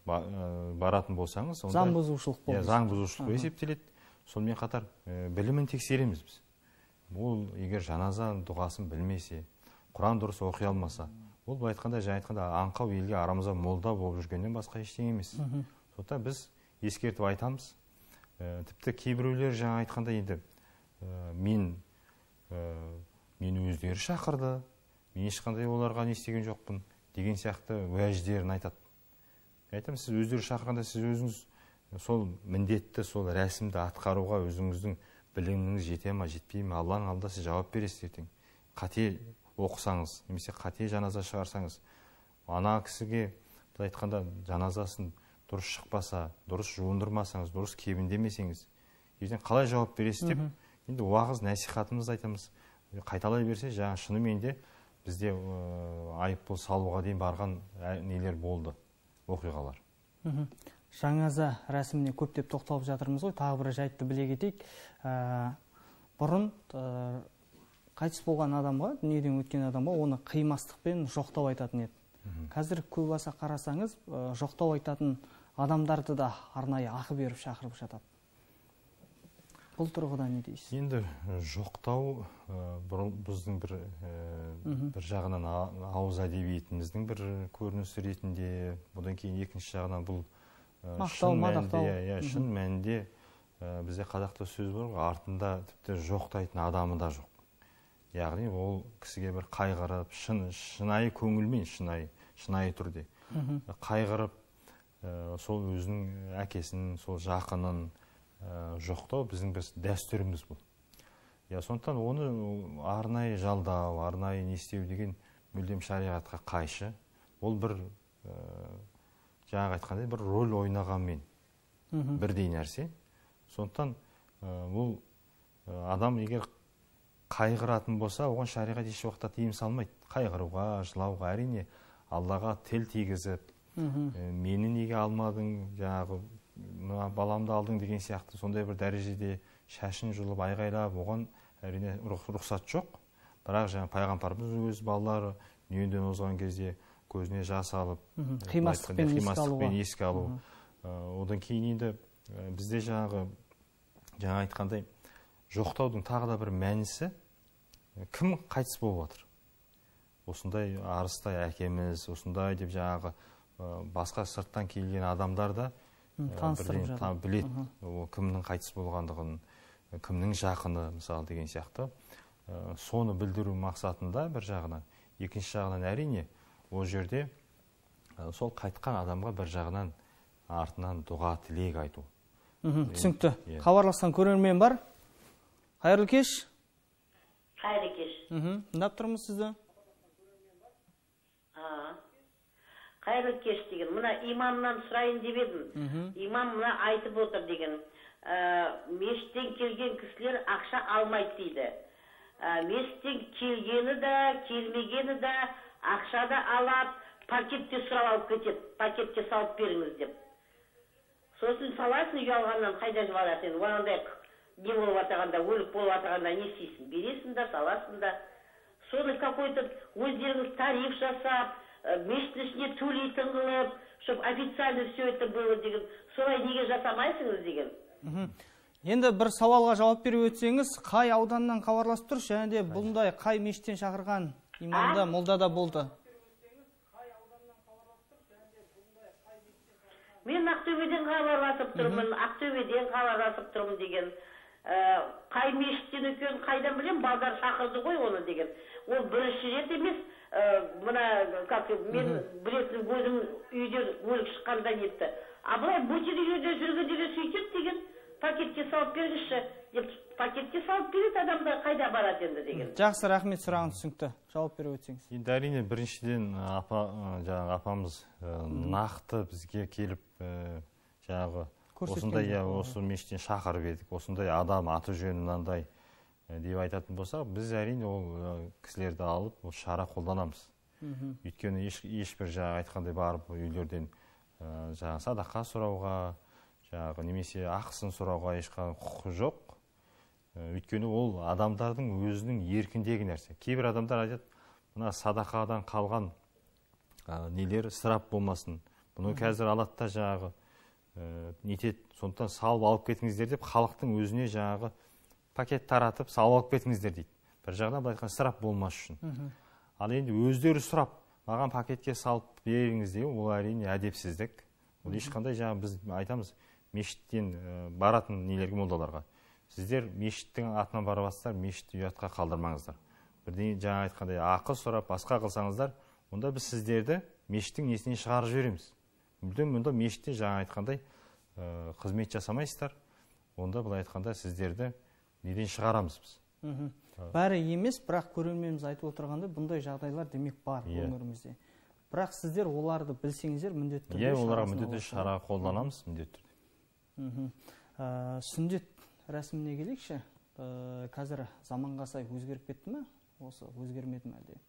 баратын болсаңыз,
заң бұзушылық болады.
Заң бұзушылық есептеледі. Сонымен қатар білімін тексереміз біз. Ол егер жаназа дұғасын білмесе, Құран дұрыс оқи алмаса, ол былай айтқанда жаңа айтқанда аңқау елге арамызда молда болып жүргеннен басқа ештеңе емес. Сондықтан біз ескертіп айтамыз. Тіпті кейбіреулер жаңа айтқанда енді мен өздері шақырды, мен ешқандай оларға не істеген жоқпын деген сияқты уәждерін айтады. Айтамын, сіз өздері шақырғанда сіз өзіңіз сол міндетті, сол рәсімді атқаруға өзіңіздің біліміңіз жете ма, жетпей ме, Алланың алдында сіз жауап бересіз ертең. Қате оқысаңыз, немесе қате жаназа шығарсаңыз, ана кісіге айтқанда жаназасын дұрыс шықпаса, дұрыс жуындырмасаңыз, дұрыс кебіндемесеңіз, ертең қалай жауап бересіз деп, енді уағыз насихатымызды айтамыз. Қайталай берсе, жаңа шынымен де бізде айыппұл салуға дейін барған нелер болды, оқиғалар.
Жаңаза рәсіміне көптеп тоқталып жатырмыз ғой, тағы бір жайтты біле кетейік. Бұрын қайтыс болған адамға, дүниеден өткен адамға оны қимастықпен жоқтау айтатын еді. Қазір көп аса қарасаңыз, жоқтау айтатын адамдарды да арнайы ақы беріп шақырып жатады. Бұл тұрғыда не дейсіз?
Енді жоқтау біздің бір жағынан ауыз әдебиетіміздің бір көрінісі ретінде, бұдан кейін екінші жағынан бұл шын мәнінде бізде қазақта сөз бар, артында тіпті жоқтайтын адамы да жоқ. Яғни ол кісіге бір қайғырып, шынайы көңілмен, шынайы түрде қайғырып, сол өзінің әкесін, сол жақынын жоқтау біздің бір дәстүріміз бұл. Сондықтан оны арнайы жалдау, арнайы не істеу деген мүлдем шариғатқа қайшы. Ол бір жаңағы айтқандай бір рөл ойнағанмен бірдей нәрсе. Сондықтан бұл адам егер қайғыратын болса, оған шариғат еш уақытта тыйым салмайды. Қайғыруға, жылауға, әрине Аллаға тіл тигізіп, мені неге алмадың, жаңағы баламды алдың деген сияқты сондай бір дәрежеде шашын жұлып айғайлап, оған әрине рұқсат жоқ. Бірақ жаңа пайғамбарымыз өз балалары дүниеден озған кезде көзіне жас алып, қимастықпен еске алу. Одан кейін енді бізде жаңа айтқандай жоқтаудың тағы да бір мәнісі, кім қайтыс болып жатыр? Осындай арыстай әкеміз, осындай деп жаңағы басқа сырттан келген адамдар да біледі кімнің қайтыс болғандығын, кімнің жақыны мысалы деген сияқты. Соны білдіру мақсатында бір жағынан, екінші жағынан әрине ол жерде сол қайтқан адамға бір жағынан артынан дұға тілек айту.
Түсінікті. Хабарласқан көрермен бар. Қайырлы кеш.
Қайырлы кеш.
Тыңдап тұрмыз сізді.
Қайырлы кеш деген. Мына имамнан сұрайын деп едім. Имам мына айтып отыр деген. Мешіттен келген кісілер ақша алмайды дейді. Мешіттен келгені да, келмегені да ақша да алып, пакетте сұрап алып кетеді. Пакетте салып беріңіз деп. Сосын саласын ұялғаннан қайда жібарасың? Оңандай не болып атағанда, өлік болып атағанда не істейсің? Бересің да, саласың да. Соны какой-то өздеріңіз тариф жасап, мешіттің ішіне төлейтін қылып, чтобы официально все это было деген. Солай неге жасамайсыңыз деген.
Енді бір сауалға жауап беріп өтсеңіз, қай ауданнан хабарласып тұр, және де бұндай қай мешіттен шақырған имамда, молда да болды?
Мен Ақтөбеден хабарласып тұрмын, Ақтөбеден хабарласып тұрмын деген. Қай мешіттен екен, қайдан білем, балдар шақырды ғой оны деген. Ол бірінші рет емес, мына, мен білетін көзім үйден өлік шыққанда нетті. Абылай бөтен үйде жүргенде де сөйтеді деген, пакетке салып бергіші деп, пакетке салып береді адамда қайда барады енді деген.
Жақсы, рахмет, сұрағын түсінікті. Жауап беріп өтсеңіз.
Енді әрине біріншіден апамыз нақты бізге келіп жаңағы осындай осы мешіттен шақырып едік, осындай адам аты жөні мынандай деп айтатын болса, біз әрине ол кісілерді алып, ол шара қолданамыз. Өйткені ешбір жаңағы айтқандай барып үйлерден жаңағы садақа сұрауға, жаңағы немесе ақысын сұрауға ешқандай құқы жоқ. Өйткені ол адамдардың өзінің еркіндегі нәрсе. Кейбір адамдар айтады, мына садақадан қалған нелер ысырап болмасын. Бұны қазір алады да жаңағы нетеді, сондықтан салып алып кетіңіздер деп, халықтың өзіне жаңағы пакет таратып, салып алып кетіңіздер дейді. Бір жағынан былай айтқан ысырап болмас үшін. Ал енді өздері сұрап, маған пакетке салып беріңіз деген, ол әрине әдепсіздік. Ол ешқандай жаңағы біз айтамыз, мешіттен баратын нелерге, молдаларға. Сіздер мешіттің атынан барасыздар, мешітті ұятқа қалдырмаңыздар. Бірден жаңа айтқандай ақы сұрап, басқа қылсаңыздар, онда біз сіздерді мешіттің несінен шығарып жібереміз. Мүлдем мұнда мешітте жаңа айтқандай қызмет жасамайсыздар, онда былай айтқанда сіздерді неден шығарамыз біз.
Бәрі емес, бірақ көрерменіміз айтып отырғанда бұндай жағдайлар демек бар өңірімізде. Бірақ сіздер оларды білсеңіздер міндетті түрде
оларға міндетті шара қолданамыз міндетті түрде.
Сүндет рәсіміне келейікші. Қазір заманға сай өзгеріп кетті ме? Осы өзгермеді ме әлде?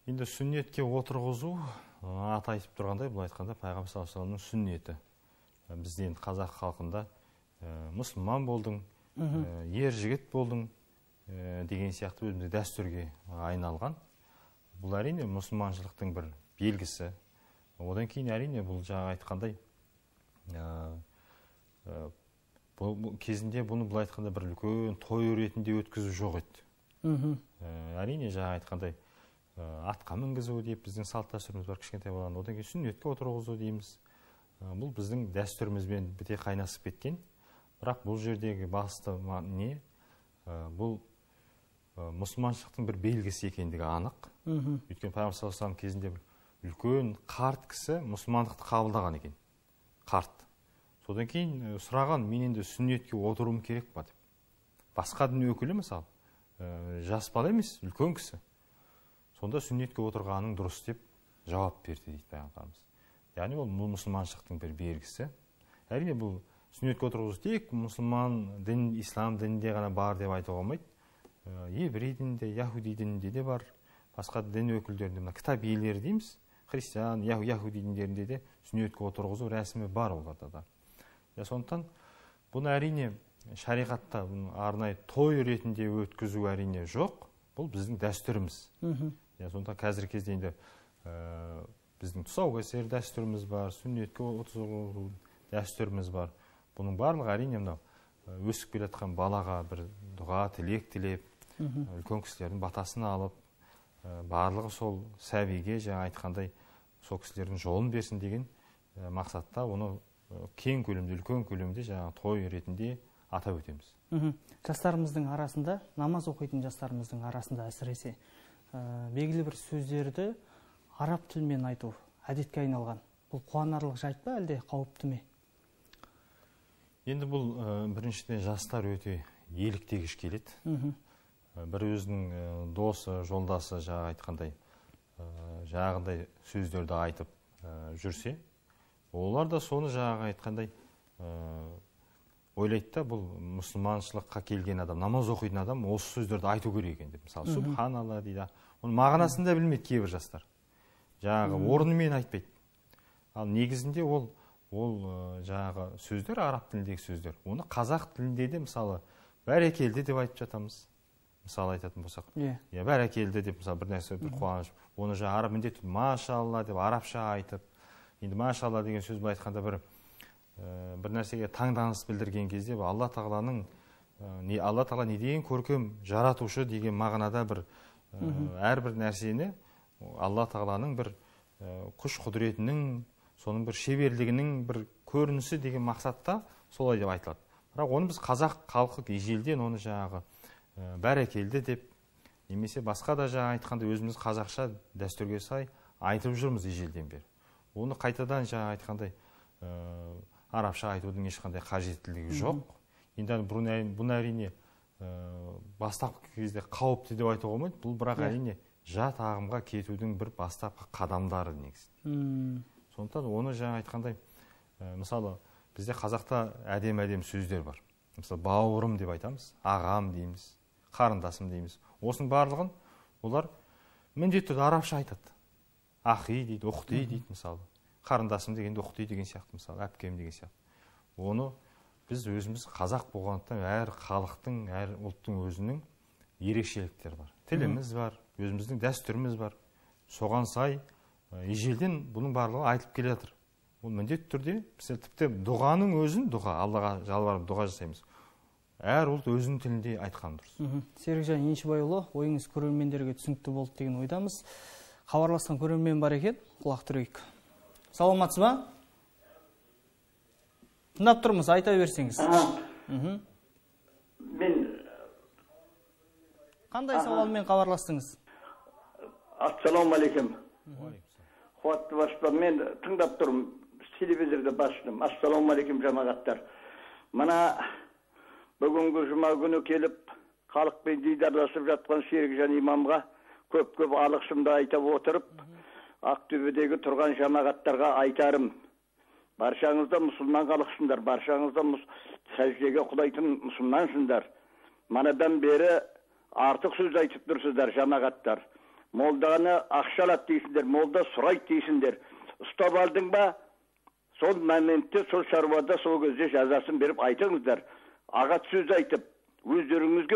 Енді сүннетке отырғызу, аты айтып тұрғандай, бұл айтқанда Пайғамбар саллаллаху алейхи вассаламның сүннеті. Бізде енді қазақ халқында мұсылман болдың, ер жігіт болдың деген сияқты өзімізде дәстүрге айналған. Бұл әрине мұсылманшылықтың бір белгісі. Одан кейін әрине бұл жаңа айтқандай кезінде бұны бұл айтқанда бір үлкен той ретінде өткізу жоқ еді. Әрине жаңа айтқандай атқа мінгізу деп біздің салт дәстүріміз бар кішкентай баланы, одан кейін сүннетке отырғызу дейміз. Бұл біздің дәстүрімізбен біте қайнасып кеткен. Бірақ бұл жердегі басты не? Бұл мұсылманшылықтың бір белгісі екендігі анық. Өйткені Пайғамбар саллаллаху алейхи вассалам кезінде үлкен қарт кісі мұсылмандықты қабылдаған екен. Қарт. Содан кейін сұраған, мен енді сүннетке отыруым керек па деп. Басқа дін өкілі мысалы, жас бала емес, үлкен кісі. Сонда сүннетке отырғаның дұрыс деп жауап берді дейді пайғамбарымыз. Яғни ол мұсылманшылықтың бір белгісі. Әрине бұл сүннетке отырғызу тек мұсылман дін, ислам дінінде ғана бар деп айтуға болмайды. Еврей дінінде, яхуди дінінде де бар, басқа дін өкілдерінде, мына кітап иелері дейміз, христиан, яхуди діндерінде де сүннетке отырғызу рәсімі бар оларда да. Сондықтан бұны әрине шариғатта арнайы той ретінде өткізу әрине жоқ. Бұл біздің дәстүріміз. Сондықтан қазіргі кезде енді біздің тұсаукесер дәстүріміз бар, сүннетке отырғызу дәстүріміз бар. Бұның барлығы әрине мынау өсіп келе жатқан балаға бір дұға, тілек тілеп, үлкен кісілердің батасын алып, барлығы сол сәбиге жаңа айтқандай сол кісілердің жолын берсін деген мақсатта оны кең көлемде, үлкен көлемде жаңа той ретінде атап өтеміз.
Жастарымыздың арасында, намаз оқитын жастарымыздың арасында әсіресе белгілі бір сөздерді араб тілімен айту әдетке айналған. Бұл қуанарлық жайт па, әлде қауіпті ме?
Енді бұл біріншіден жастар өте еліктегіш келеді. Бір өзінің досы, жолдасы айтқандай жағындай сөздерді айтып жүрсе, олар да соны айтқандай ойлайды да, бұл мұсылманшылыққа келген адам, намаз оқитын адам осы сөздерді айту керек екен деп. Мысалы, субханалла дейді. Оның мағынасын да білмейді кейбір жастар. Орнымен айтпайды. Ал негізінде ол сөздер араб тіліндегі сөздер. Оны қазақ тілінде де мысалы бәрекелді деп айтып жатамыз. Мысалы айтатын болсақ. Бәрекелді деп мысалы бір нәрсе бір қуаныш. Оны араб міндетті машалла деп арабша айтып. Енді машалла деген сөз айтқанда бір нәрсеге таңданыс білдірген кезде Алла Тағала не деген көркем жаратушы деген мағынада бір әрбір нәрсені Алла Тағаланың бір күш құдіретінің, соның бір шеберлігінің бір көрінісі деген мақсатта солай деп айтылады. Бірақ оны біз қазақ халқы ежелден оны бәрекелді деп, немесе басқа да айтқанда өзіміз қазақша дәстүрге сай айтып жүрміз ежелден бері. Оны қайтадан айтқандай арабша айтудың ешқандай қажеттілігі жоқ. Енді бұны әрине бастапқы кезде қауіпті деп айтуға болмайды. Бұл бірақ әрине жат ағымға кетудің бір бастапқы қадамдары негізі. Сондықтан оны айтқандай, мысалы бізде қазақта әдем сөздер бар. Мысалы бауырым деп айтамыз, ағам дейміз, қарындасым дейміз. Осының барлығын олар міндетті арабша айтады. Ахи дейді, ұхти дейді мысалы. Қарындасым дегенде ұхти деген сияқты, мысалы әпкем деген сияқты. Оны біз өзіміз қазақ болғандықтан әр халықтың, әр ұлттың өзінің ерекшеліктері бар. Тіліміз бар, өзіміздің дәстүріміз бар. Соған сай ежелден бұның барлығы айтылып келе жатыр. Ол міндетті түрде, тіпті дұғаның өзін, Аллаға жалбарып дұға жасаймыз. Әр ұлт өзінің тілінде айтқан дұрыс.
Серікжан Еншібайұлы, ойыңыз көрермендерге түсінікті болды деген ойдамыз. Хабарласқан көрермен бар екен, құлақ түрейік. Саламатсыз ба? Тыңдап тұрмыз, айта берсеңіз.
Мен
қандай сауалмен хабарластыңыз?
Ассалаумағалейкум. Қуатты баспа, мен тыңдап тұрмын, телевизорды бастым. Ассалаумағалейкум жамағаттар. Мына бүгінгі жұма күні келіп, халықпен дидарласып жатқан Серікжан имамға көп алғысымды айтып отырып, Ақтөбедегі тұрған жамағаттарға айтарым. Баршаңызда мұсылман халықсыңдар, баршаңызда сәждеге құлайтын мұсылмансыңдар. Манадан бері артық сөз айтып тұрсыздар жамағаттар. Молданы ақшалат дейсіңдер, молда сұрайт дейсіңдер. Ұстап алдың ба, сол моментте, сол шаруада, сол кезде жазасын беріп айтыңыздар. Ағат сөз айтып, өздеріңіз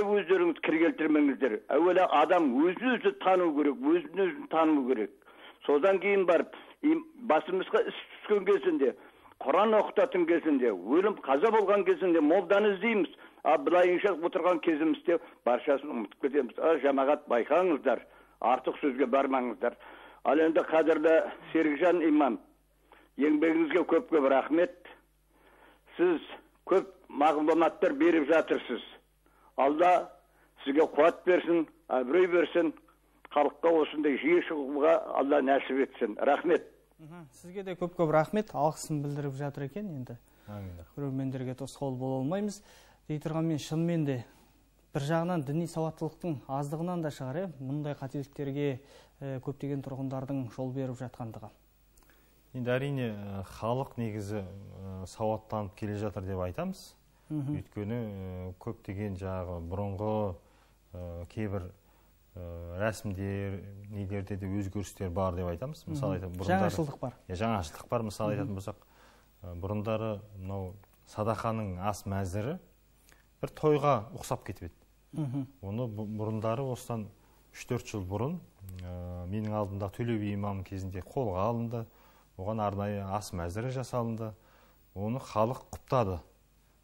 кір келтірмеңіздер. Әуелі адам өзін тану керек, өзін тану керек. Содан кейін барып, басымызға іс түскен кезінде, Құран оқытатын кезінде, өлім қаза болған кезінде молданы іздейміз. Былайынша отырған кезімізде баршасын ұмытып кетеміз. Жамағат байқаңыздар, артық сөзге бармаңыздар. Ал енді қадірлі Серікжан имам, еңбегіңізге көп рахмет. Сіз көп мағлұматтар беріп жатырсыз. Алла сізге қуат берсін, абырой берсін. Халыққа осындай жиі шығуға Алла нәсіп етсін. Рахмет.
Сізге де көп рахмет. Алғысын білдіріп жатыр екен енді. көрермендерге тосқауыл бола алмаймыз. Дей тұрғанмен шынымен де бір жағынан діни сауаттылықтың аздығынан да шығар, мұндай қателіктерге көптеген тұрғындардың жол беріп жатқандығы.
Енді әрине халық негізі сауаттанып келе жатыр деп айтамыз. Өйткені көптеген жағы бұрынғы кейбір рәсімдер, нелерде де өзгерістер бар деп айтамыз. Мысалы
жаңашылдық бар.
Жаңашылдық бар. Мысалы айтатын болсақ, бұрындары садақаның ас мәзірі бір тойға ұқсап кетіп еді. Оны бұрындары осыдан 3-4 жыл бұрын менің алдымда Төле би имам кезінде қолға алынды. Оған арнайы ас мәзірі жасалынды. Оны халық құптады.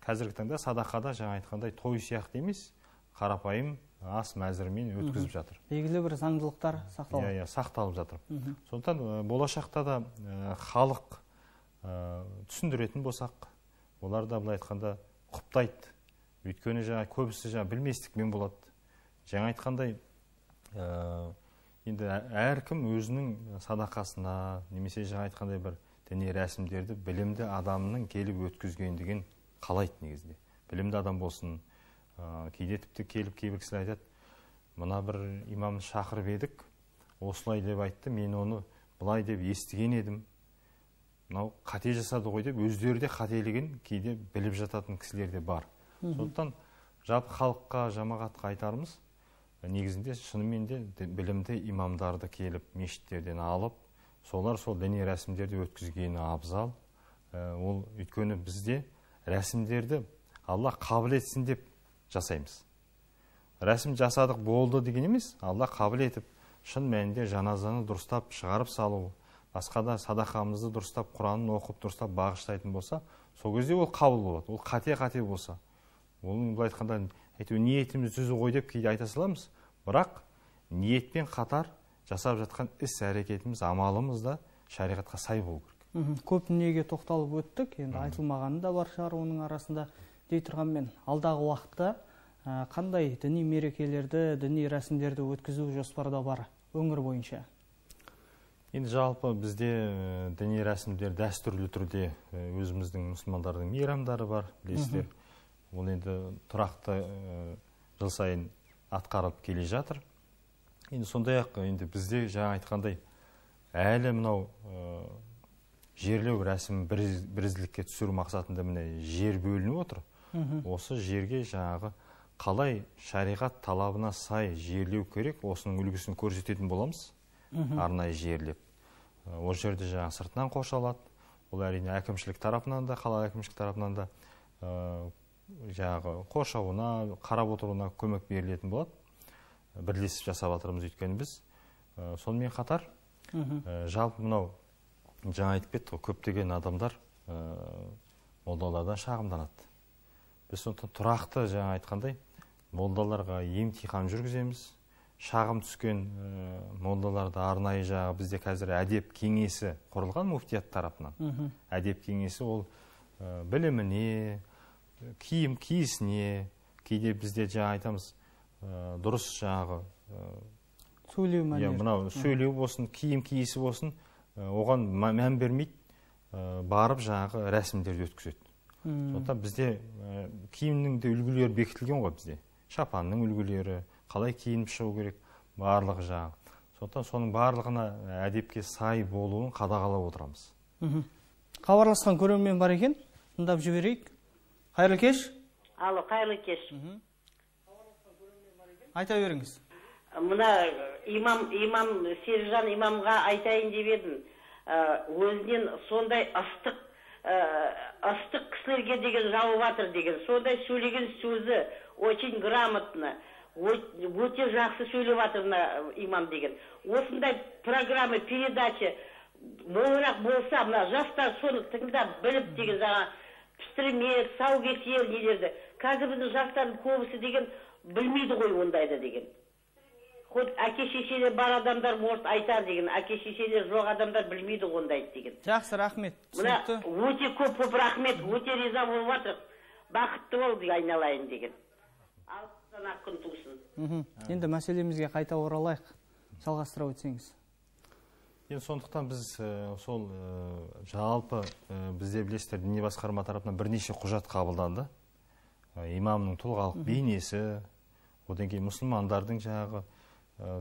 Қазіргі таңда садақада жаңа айтқандай той сияқты емес, қарапайым ас мәзірімен өткізіп жатыр.
Белгілі бір заңдылықтар сақталып.
Сақталып жатыр. Сондықтан болашақта да халық түсіндіретін болсақ, олар да былай айтқанда құптайды. Өйткені жаңа көбісі білместікпен болады. Жаңа айтқандай енді әркім өзінің садақасына, немесе жаңа айтқандай бір діни рәсімдерді білімді адамның келіп өткізгендігін қалайды негізінде. Білімді адам болсын, кейде тіпті келіп кейбір кісілер айтады, мына бір имамды шақырып едік, осылай деп айтты, мен оны былай деп естіген едім. Мынау қате жасады ғой деп, өздері де қателігін кейде біліп жататын кісілер де бар. Сондықтан жалпы халыққа, жамағатқа айтарымыз, негізінде шынымен де білімді имамдарды келіп мешіттерден алып, солар сол діни рәсімдерді өткізгені абзал. Ол өйткені бізде рәсімдерді Алла қабыл етсін деп жасаймыз. Рәсім жасадық болды деген емес, Алла қабыл етіп, шын мәнінде жаназаны дұрыстап шығарып салу, басқа да садақамызды дұрыстап, Құранын оқып дұрыстап бағыштайтын болса, сол кезде ол қабыл болады. Ол қате болса, оның былай айтқанда ниетіміз түзу ғой деп кейде айта саламыз, бірақ ниетпен қатар жасап жатқан іс-әрекетіміз, амалымыз да шариғатқа сай болу керек.
Көп дүниеге тоқталып өттік, енді айтылмағаны да бар шығар оның арасында. Дей тұрғанмен, алдағы уақытта қандай діни мерекелерді, діни рәсімдерді өткізу жоспарда бар өңір бойынша?
Енді жалпы бізде діни рәсімдер дәстүрлі түрде өзіміздің мұсылмандардың мейрамдары бар, білесіздер. Ол енді тұрақты жыл сайын атқарылып келе жатыр. Енді сондай-ақ енді бізде жаңа айтқандай әлі мынау жерлеу рәсімін бірізділікке түсіру мақсатында міне жер бөлініп отыр. Осы жерге жаңағы қалай шариғат талабына сай жерлеу керек, осының үлгісін көрсететін боламыз, арнайы жерлеп. Ол жерде жаңа сыртынан қоршалады. Ол әрине әкімшілік тарапынан да, қала әкімшілік тарапынан да жаңағы қоршауына, қарап отыруына көмек берілетін болады. Бірлесіп жасап жатырмыз өйткені біз. Сонымен қатар жалпы мынау жаңа айтып кеттік, көптеген адамдар молдалардан шағымданады. Біз сондықтан тұрақты жаңа айтқандай молдаларға емтихан жүргіземіз. Шағым түскен молдаларды арнайы жаңа бізде қазір әдеп кеңесі құрылған муфтият тарапынан. Әдеп кеңесі ол біліміне, киім киісіне, кейде бізде жаңа айтамыз, дұрыс жаңағы
сөйлеу мәнері.
Мынау сөйлеу болсын, киім киісі болсын, оған мән бермейді, барып жаңағы рәсімдерді өткізеді. Сондықтан бізде киімнің де үлгілері бекітілген ғой бізде. Шапанның үлгілері, қалай киініп шығу керек, барлығы жаңағы. Сондықтан соның барлығына әдепке сай болуын қадағалап отырамыз.
Хабарласқан көрермен бар екен, тыңдап жіберейік. Қайырлы кеш.
Алло, қайырлы кеш.
Айта беріңіз.
Мына имам Сержан имамға айтайын деп едім. Өзінен сондай ыстық кісілерге деген жауып жатыр деген. Сондай сөйлеген сөзі очень грамотно, өте жақсы сөйлеп жатыр имам деген. Осындай программа, передача молырақ болса, мына жастар соны тыңдап біліп деген жаңа пісірмек, саукесер нелерді. Қазір біздің жастардың көбісі деген білмейді ғой ондайды деген. Хоть әке-шешелер бар адамдар может айтар деген, әке-шешелер жоқ адамдар білмейді ондайды деген.
Жақсы, рахмет.
Өте көп рахмет, өте риза болып жатыр. Бақытты бол айналайын деген. Алыстан ақ күн тусын.
Енді мәселемізге қайта оралайық. Жалғастыра өтсеңіз.
Енді сондықтан біз сол жалпы бізде білесіздер діни басқарма тарапынан бірнеше құжат қабылданды. Имамның тұлғалық бейнесі, одан кейін мұсылмандардың жаңағы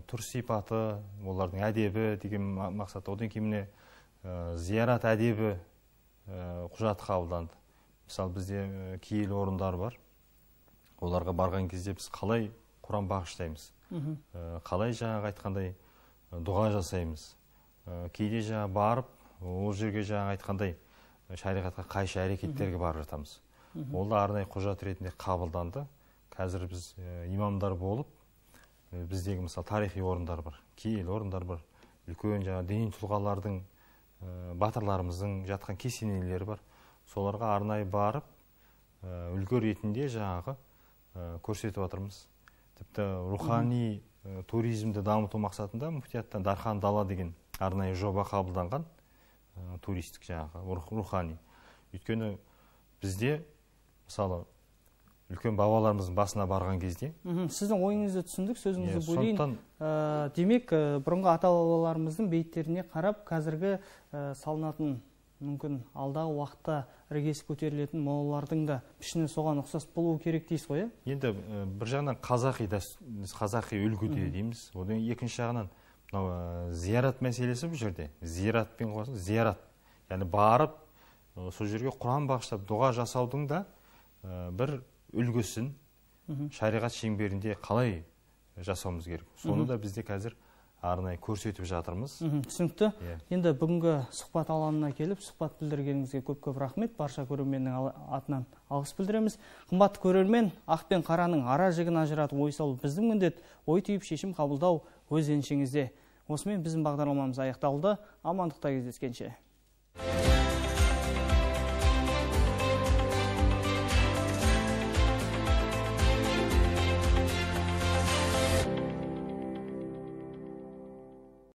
түр сипаты, олардың әдебі деген мақсатта, одан кейін міне зиярат әдебі құжат қабылданды. Мысалы бізде киелі орындар бар. Оларға барған кезде біз қалай Құран бағыштаймыз, қалай жаңағы айтқандай дұға жасаймыз. Кейде жаңа барып, ол жерге жаңа айтқандай шариғатқа қайшы әрекеттерге барып жатамыз. Ол да арнайы құжат ретінде қабылданды. Қазір біз имамдар болып, біздегі мысалы тарихи орындар бар, киелі орындар бар, үлкен жаңа діни тұлғалардың, батырларымыздың жатқан кесенелері бар. Соларға арнайы барып, үлгі ретінде жаңағы көрсетіп жатырмыз. Тіпті рухани туризмді дамыту мақсатында муфтияттан Дархан Дала деген арнайы жоба қабылданған, туристік жаңағы рухани. Өйткені бізде мысалы үлкен бабаларымыздың басына барған кезде.
Сіздің ойыңызды түсіндік, сөзіңізді бөлейін. Демек, бұрынғы ата-бабаларымыздың бейіттеріне қарап, қазіргі салынатын мүмкін алдағы уақытта іргесі көтерілетін молалардың да пішіні соған ұқсас болуы керек дейсіз ғой?
Енді бір жағынан қазақи үлгіде дейміз. Одан екінші жағынан зиярат мәселесі бұл жерде. Зияратпен қоса зиярат. Яғни барып, сол жерге Құран бағыштап дұға жасаудың да бір үлгісін шариғат шеңберінде қалай жасауымыз керек. Соны да бізде қазір арнайы көрсетіп жатырмыз.
Түсінікті. Енді бүгінгі сұхбат алаңына келіп, сұхбат білдіргеніңізге көп-көп рахмет. Барша көрерменнің атынан алғыс білдіреміз. Қымбатты көрермен, ақ пен қараның ара жігін ажыратып ой салу біздің міндет, ой түйіп шешім қабылдау өз еншіңізде. Осымен біздің бағдарламамыз аяқталды. Амандықта кездескенше.